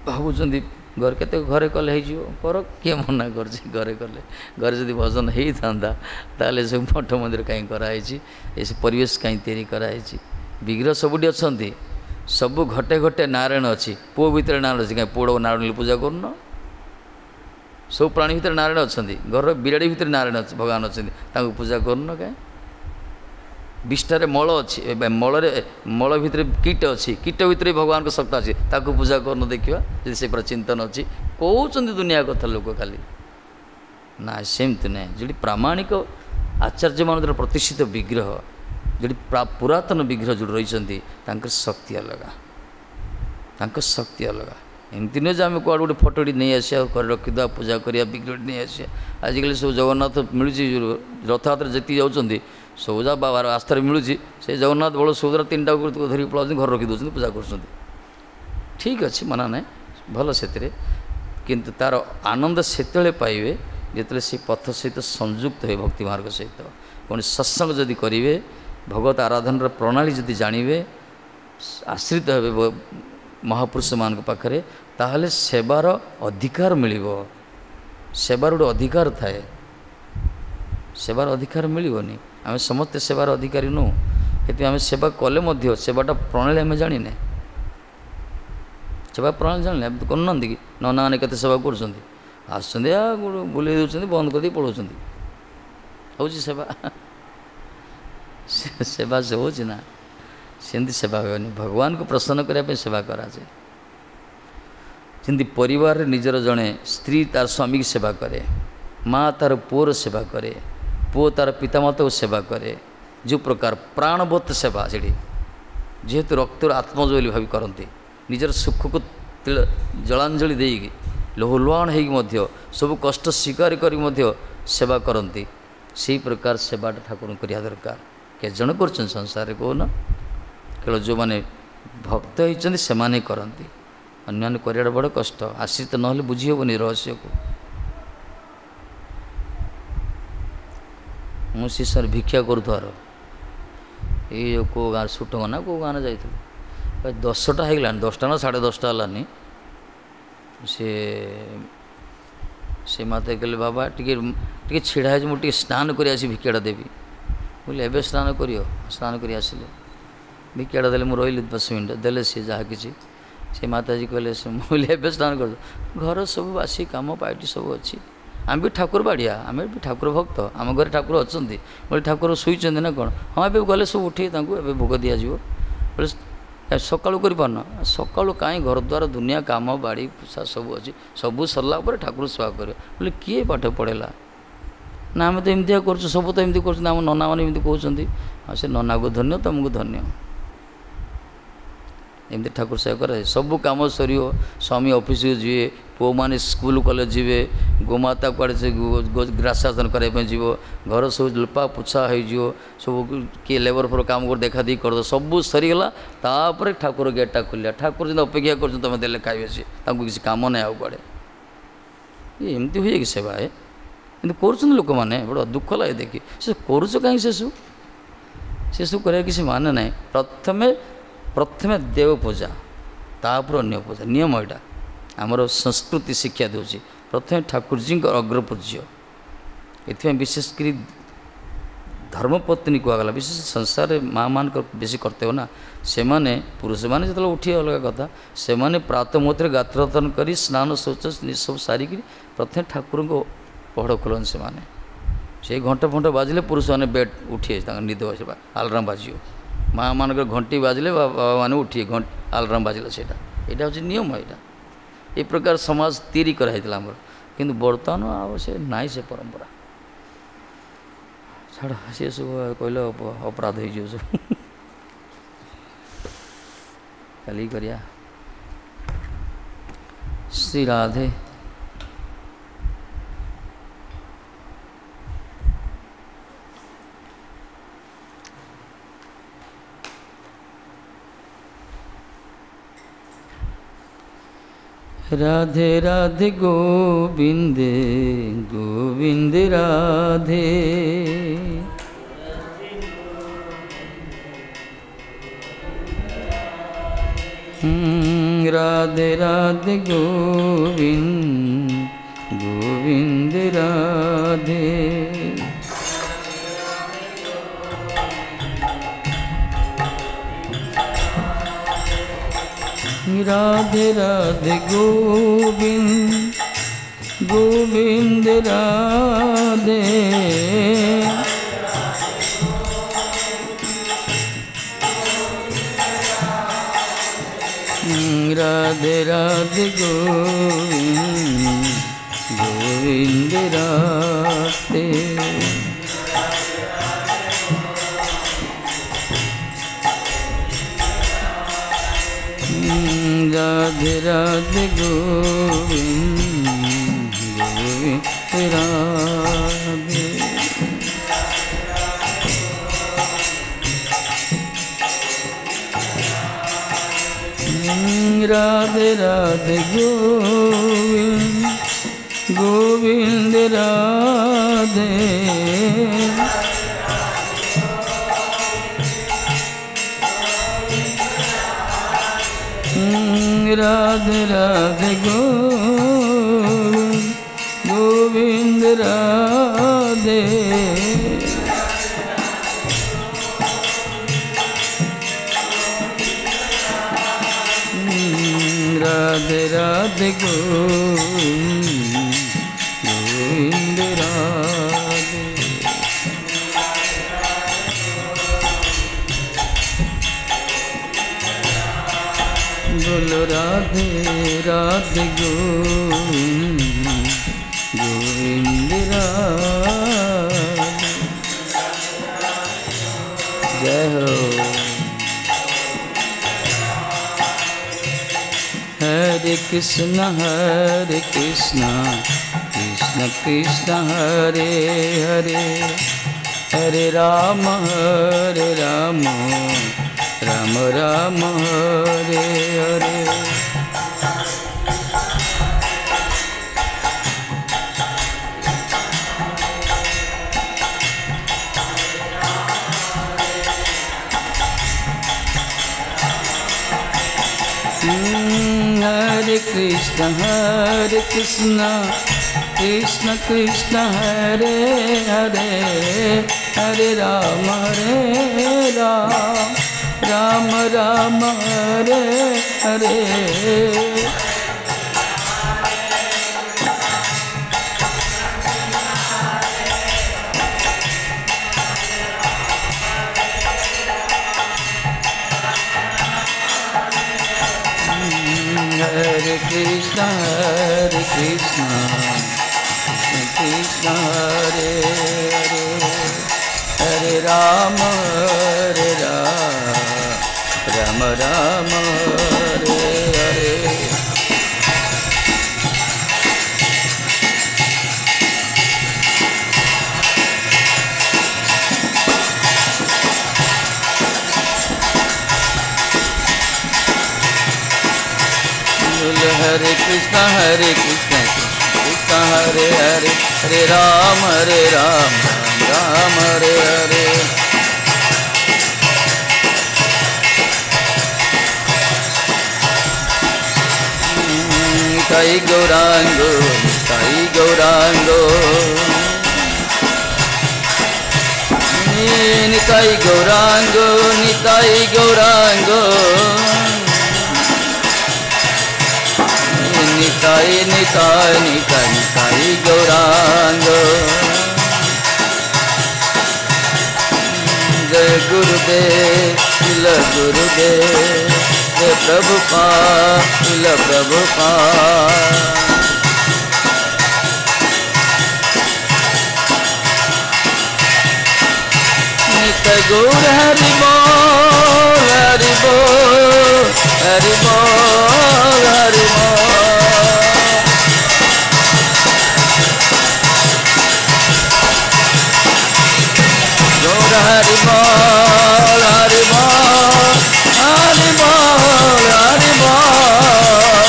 ଭାବୁଛନ୍ତି ଘରେ କେତେ ଘରେ କଲେ ହେଇଯିବ, କର, କିଏ ମନା କରୁଛି? ଘରେ କଲେ, ଘରେ ଯଦି ଭଜନ ହେଇଥାନ୍ତା ତାହେଲେ ସବୁ ମଠ ମନ୍ଦିର କାହିଁ କରାହେଇଛି? ଏସବୁ ପରିବେଶ କାହିଁ ତିଆରି କରାହେଇଛି? ବିଗ୍ରହ ସବୁଠି ଅଛନ୍ତି, ସବୁ ଘଟେ ଘଟେ ନାରାୟଣ ଅଛି, ପୁଅ ଭିତରେ ନାରାୟଣ ଅଛି, କାହିଁ ପୁଅଟାକୁ ନାରାୟଣ ପୂଜା କରୁନ? ସବୁ ପ୍ରାଣୀ ଭିତରେ ନାରାୟଣ ଅଛନ୍ତି, ଘରର ବିରାଡ଼ି ଭିତରେ ନାରାୟଣ ଅଛି, ଭଗବାନ ଅଛନ୍ତି, ତାଙ୍କୁ ପୂଜା କରୁନ କାହିଁ? ବିଷ୍ଠାରେ ମଳ ଅଛି, ମଳରେ ମଳ ଭିତରେ କୀଟ ଅଛି, କୀଟ ଭିତରେ ଭଗବାନଙ୍କ ସତ୍ତା ଅଛି, ତାକୁ ପୂଜା କରୁନ? ଦେଖିବା ଯଦି ସେ ପୁରା ଚିନ୍ତନ ଅଛି। କହୁଛନ୍ତି ଦୁନିଆ କଥା ଲୋକ ଖାଲି ନା, ସେମିତି ନାହିଁ। ଯେଉଁଠି ପ୍ରାମାଣିକ ଆଚାର୍ଯ୍ୟମାନଙ୍କର ପ୍ରତିଷ୍ଠିତ ବିଗ୍ରହ, ଯେଉଁଠି ପୁରାତନ ବିଗ୍ରହ ଯେଉଁଠି ରହିଛନ୍ତି, ତାଙ୍କର ଶକ୍ତି ଅଲଗା, ତାଙ୍କ ଶକ୍ତି ଅଲଗା। ଏମିତି ନୁହେଁ ଯେ ଆମେ କୁଆଡ଼େ ଗୋଟେ ଫଟୋଟି ନେଇ ଆସିବା, ଘରେ ରଖିଦେବା, ପୂଜା କରିବା, ବିଗ୍ରହଟି ନେଇ ଆସିବା। ଆଜିକାଲି ସବୁ ଜଗନ୍ନାଥ ମିଳୁଛି, ରଥଯାତ୍ରା ଯେତିକି ଯାଉଛନ୍ତି ସବୁ ଯା ବାବାର ଆସ୍ଥାରେ ମିଳୁଛି, ସେ ଜଗନ୍ନାଥ ବଳ ସୁଭଦ୍ରା ତିନିଟାକୁ ଧରିକି ପଳାଉଛନ୍ତି, ଘରେ ରଖି ଦେଉଛନ୍ତି, ପୂଜା କରୁଛନ୍ତି। ଠିକ୍ ଅଛି, ମନା ନାହିଁ, ଭଲ ସେଥିରେ, କିନ୍ତୁ ତା'ର ଆନନ୍ଦ ସେତେବେଳେ ପାଇବେ ଯେତେବେଳେ ସେ ପଥ ସହିତ ସଂଯୁକ୍ତ ହେବେ, ଭକ୍ତି ମାର୍ଗ ସହିତ। କୌଣସି ସତ୍ସଙ୍ଗ ଯଦି କରିବେ, ଭଗବତ ଆରାଧନାର ପ୍ରଣାଳୀ ଯଦି ଜାଣିବେ, ଆଶ୍ରିତ ହେବେ ମହାପୁରୁଷମାନଙ୍କ ପାଖରେ, ତାହେଲେ ସେବାର ଅଧିକାର ମିଳିବ। ସେବାର ଗୋଟେ ଅଧିକାର ଥାଏ, ସେବାର ଅଧିକାର ମିଳିବନି। ଆମେ ସମସ୍ତେ ସେବାର ଅଧିକାରୀ ନୁହଁ, ସେଥିପାଇଁ ଆମେ ସେବା କଲେ ମଧ୍ୟ ସେବାଟା ପ୍ରଣାଳୀ ଆମେ ଜାଣିନେ। ସେବା ପ୍ରଣାଳୀ ଜାଣିଲେ ଆମେ କରୁନାହାନ୍ତି କି? ନନାମାନେ କେତେ ସେବା କରୁଛନ୍ତି, ଆସୁଛନ୍ତି ଆଉ ବୁଲେଇ ଦେଉଛନ୍ତି, ବନ୍ଦ କରିଦେଇ ପଳାଉଛନ୍ତି। ହେଉଛି ସେବା? ସେବା ସେ ହେଉଛି ନା? ସେମିତି ସେବା ହେବନି। ଭଗବାନଙ୍କୁ ପ୍ରସନ୍ନ କରିବା ପାଇଁ ସେବା କରାଯାଏ। ଯେମିତି ପରିବାରରେ ନିଜର ଜଣେ ସ୍ତ୍ରୀ ତାର ସ୍ୱାମୀକି ସେବା କରେ, ମା ତାର ପୁଅର ସେବା କରେ, ପୁଅ ତାର ପିତାମାତାକୁ ସେବା କରେ, ଯେଉଁ ପ୍ରକାର ପ୍ରାଣବତ୍ ସେବା ସେଠି, ଯେହେତୁ ରକ୍ତର ଆତ୍ମଜ ବୋଲି ଭାବି କରନ୍ତି, ନିଜର ସୁଖକୁ ଜଳାଞ୍ଜଳି ଦେଇକି ଲହୁଲୁହାଣ ହେଇକି ମଧ୍ୟ ସବୁ କଷ୍ଟ ସ୍ୱୀକାର କରିକି ମଧ୍ୟ ସେବା କରନ୍ତି, ସେଇ ପ୍ରକାର ସେବାଟା ଠାକୁରଙ୍କୁ କରିବା ଦରକାର। କେତେ ଜଣ କରୁଛନ୍ତି ସଂସାରରେ କହୁନ? କେବଳ ଯେଉଁମାନେ ଭକ୍ତ ହେଇଛନ୍ତି ସେମାନେ କରନ୍ତି, ଅନ୍ୟମାନେ କରିବାଟା ବଡ଼ କଷ୍ଟ। ଆଶ୍ରିତ ନହେଲେ ବୁଝି ହେବନି ରହସ୍ୟକୁ। ମୁଁ ଶିଷ୍ୟରେ ଭିକ୍ଷା କରୁଥିବାର ଏଇ ଯେଉଁ କେଉଁ ଗାଁ ସୁଟଙ୍ଗ ନା କେଉଁ ଗାଁରେ ଯାଇଥିଲୁ, ଦଶଟା ହେଇଗଲାଣି, ଦଶଟା ନା ସାଢ଼େ ଦଶଟା ହେଲାନି। ସେ ସେ ମାତା କହିଲେ, ବାବା ଟିକେ ଟିକେ ଛିଡ଼ା ହେଇଛି, ମୁଁ ଟିକେ ସ୍ନାନ କରି ଆସି ଭିକ୍ଷାଟା ଦେବି। ବୋଇଲେ ଏବେ ସ୍ନାନ କରିବ? ସ୍ନାନ କରି ଆସିଲେ ଭିକ୍ଷାଟା ଦେଲେ, ମୁଁ ରହିଲି ଦଶ ମିନିଟ୍, ଦେଲେ ସିଏ ଯାହା କିଛି। ସେ ମାତାଜୀ କହିଲେ, ମୁଁ କହିଲି ଏବେ ସ୍ନାନ କରିବ? ଘର ସବୁ ବାସି କାମ ପାଇଟି ସବୁ ଅଛି, ଆମେ ବି ଠାକୁର ବାଡ଼ିଆ, ଆମେ ବି ଠାକୁର ଭକ୍ତ, ଆମ ଘରେ ଠାକୁର ଅଛନ୍ତି। ବୋଲେ ଠାକୁର ଶୋଇଛନ୍ତି ନା କ'ଣ? ହଁ ଏବେ ଗଲେ ସବୁ ଉଠେଇ ତାଙ୍କୁ ଏବେ ଭୋଗ ଦିଆଯିବ। ବୋଲେ ସକାଳୁ କରିପାରୁନ? ସକାଳୁ କାହିଁ, ଘର ଦ୍ୱାର ଦୁନିଆ କାମ ବାଡ଼ି ପୋଷା ସବୁ ଅଛି, ସବୁ ସରିଲା ପରେ ଠାକୁର ସେବା କରିବ। ବୋଲେ କିଏ ପାଠ ପଢ଼େଇଲା? ନା ଆମେ ତ ଏମିତିଆ କରୁଛୁ, ସବୁ ତ ଏମିତି କରୁଛନ୍ତି, ଆମ ନନାମାନେ ଏମିତି କହୁଛନ୍ତି। ଆଉ ସେ ନନାକୁ ଧନ୍ୟ, ତୁମକୁ ଧନ୍ୟ। ଏମିତି ଠାକୁର ସେବା କରାଯାଏ। ସବୁ କାମ ସରିବ, ସ୍ୱାମୀ ଅଫିସକୁ ଯିବେ, ପୁଅମାନେ ସ୍କୁଲ କଲେଜ ଯିବେ, ଗୋମାତା କୁଆଡ଼େ ସେ ଗ୍ରାସାସନ କରିବା ପାଇଁ ଯିବ, ଘର ସବୁ ଲିପା ପୋଛା ହେଇଯିବ, ସବୁ କିଏ ଲେବର ଫେବର କାମ କରି ଦେଖା ଦେଖି କରିଦେବ, ସବୁ ସରିଗଲା। ତାପରେ ଠାକୁର ଗେଟ୍ଟା ଖୋଲିଲା। ଠାକୁର ଯେମିତି ଅପେକ୍ଷା କରୁଛନ୍ତି ତୁମେ ଦେଲେ ଖାଇବେ, ସିଏ ତାଙ୍କୁ କିଛି କାମ ନାହିଁ ଆଉ କୁଆଡ଼େ। ଏମିତି ହୁଏ କି ସେବା? ଏ କିନ୍ତୁ କରୁଛନ୍ତି ଲୋକମାନେ, ବଡ଼ ଦୁଃଖ ଲାଗେ ଦେଖି। ସେ କରୁଛ କାହିଁକି ସେସବୁ? ସେସବୁ କରିବା କିଛି ମାନେ ନାହିଁ। ପ୍ରଥମେ ପ୍ରଥମେ ଦେବ ପୂଜା, ତାପରେ ଅନ୍ୟ ପୂଜା, ନିୟମ ଏଇଟା ଆମର ସଂସ୍କୃତି ଶିକ୍ଷା ଦେଉଛି। ପ୍ରଥମେ ଠାକୁରଜୀଙ୍କ ଅଗ୍ରପୂଜ୍ୟ। ଏଥିପାଇଁ ବିଶେଷ କରି ଧର୍ମପତ୍ନୀ କୁହାଗଲା। ବିଶେଷ ସଂସାରରେ ମା' ମାନଙ୍କର ବେଶୀ କର୍ତ୍ତବ୍ୟ ନା, ସେମାନେ ପୁରୁଷମାନେ ଯେତେବେଳେ ଉଠିବେ ଅଲଗା କଥା, ସେମାନେ ପ୍ରାତଃ ମୁହୂର୍ତ୍ତରେ ଗାତ୍ରୋତ୍ତନ କରି ସ୍ନାନ ଶୌଚ ସବୁ ସାରିକିରି ପ୍ରଥମେ ଠାକୁରଙ୍କ ପହଡ଼ ଖୋଲନ୍ତି ସେମାନେ। ସେଇ ଘଣ୍ଟ ଫଣ୍ଟ ବାଜିଲେ ପୁରୁଷମାନେ ବେଡ଼ ଉଠିବେ, ତାଙ୍କ ନିଦ ଆସିବା ଆଲାର୍ମ ବାଜିବ। ମା' ମାନଙ୍କର ଘଣ୍ଟି ବାଜିଲେ ବାବାମାନେ ଉଠିବେ, ଘଣ୍ଟ ଆଲାର୍ମ ବାଜିଲେ। ସେଇଟା ଏଇଟା ହେଉଛି ନିୟମ। ଏଇଟା ଏ ପ୍ରକାର ସମାଜ ତିଆରି କରାହେଇଥିଲା ଆମର, କିନ୍ତୁ ବର୍ତ୍ତମାନ ଆଉ ସେ ନାହିଁ ସେ ପରମ୍ପରା। ଛାଡ଼, ସେ ସବୁ କହିଲେ ଅପରାଧ ହେଇଯିବ ସବୁ। କାଲି କରିବା। ଶ୍ରୀ ରାଧେ। राधे राधे गोविंद गोविंद राधे। राधे राधे गोविंद गोविंद राधे। राधे राधे गोविंद गोविंद राधे। राधे राधे गोविंद गोविंद राधे। राधे राधे गोविंद गोविंद राधे। राधे राधे गोविंद गोविंद राधे। राधे राधे गोविंद गोविंद राधे। राधे राधे गोविंद गोविंद राधे। बोलो राधे राधे गोविंद गोविंद राधे। जय हो। हरे कृष्ण हरे कृष्ण कृष्ण कृष्ण हरे हरे, हरे राम हरे राम राम राम हरे हरे। हरे कृष्ण हरे कृष्ण कृष्ण कृष्ण हरे हरे, हरे राम हरे Ram Ram Ram Hare Hare. Hare Krishna Hare Krishna Krishna Hare Hare, Hare Rama Hare Rama, Rama Rama Hare Hare. Hare Krishna Hare Krishna Krishna Hare Hare, Hare Ram Hare Ram Ram Ram Hare Hare. Nitai Gauranga Nitai Gauranga Nitai Gauranga Nitai Gauranga Nitai Nitai Nitai Nitai Gauranga. Jai Gurudev Srila Gurudev Jai Prabhupada Srila Prabhupada. Nitai Gaur Hari Bol Hari Bol Hari Bol Hari Bol. Hari Bol, Hari Bol, Hari Bol, Hari Bol.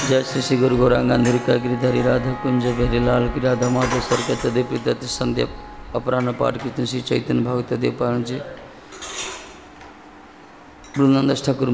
Jai Shri Shri Guru Gauranga Nirika Giridhari Radha Kunj Bihari Lal की राधा माधव सरकत देव दत्त संध्या अपराह्न पाठ कीर्तन श्री चैतन्य भगवत देव पारण जी वृंदावन दास ठाकुर।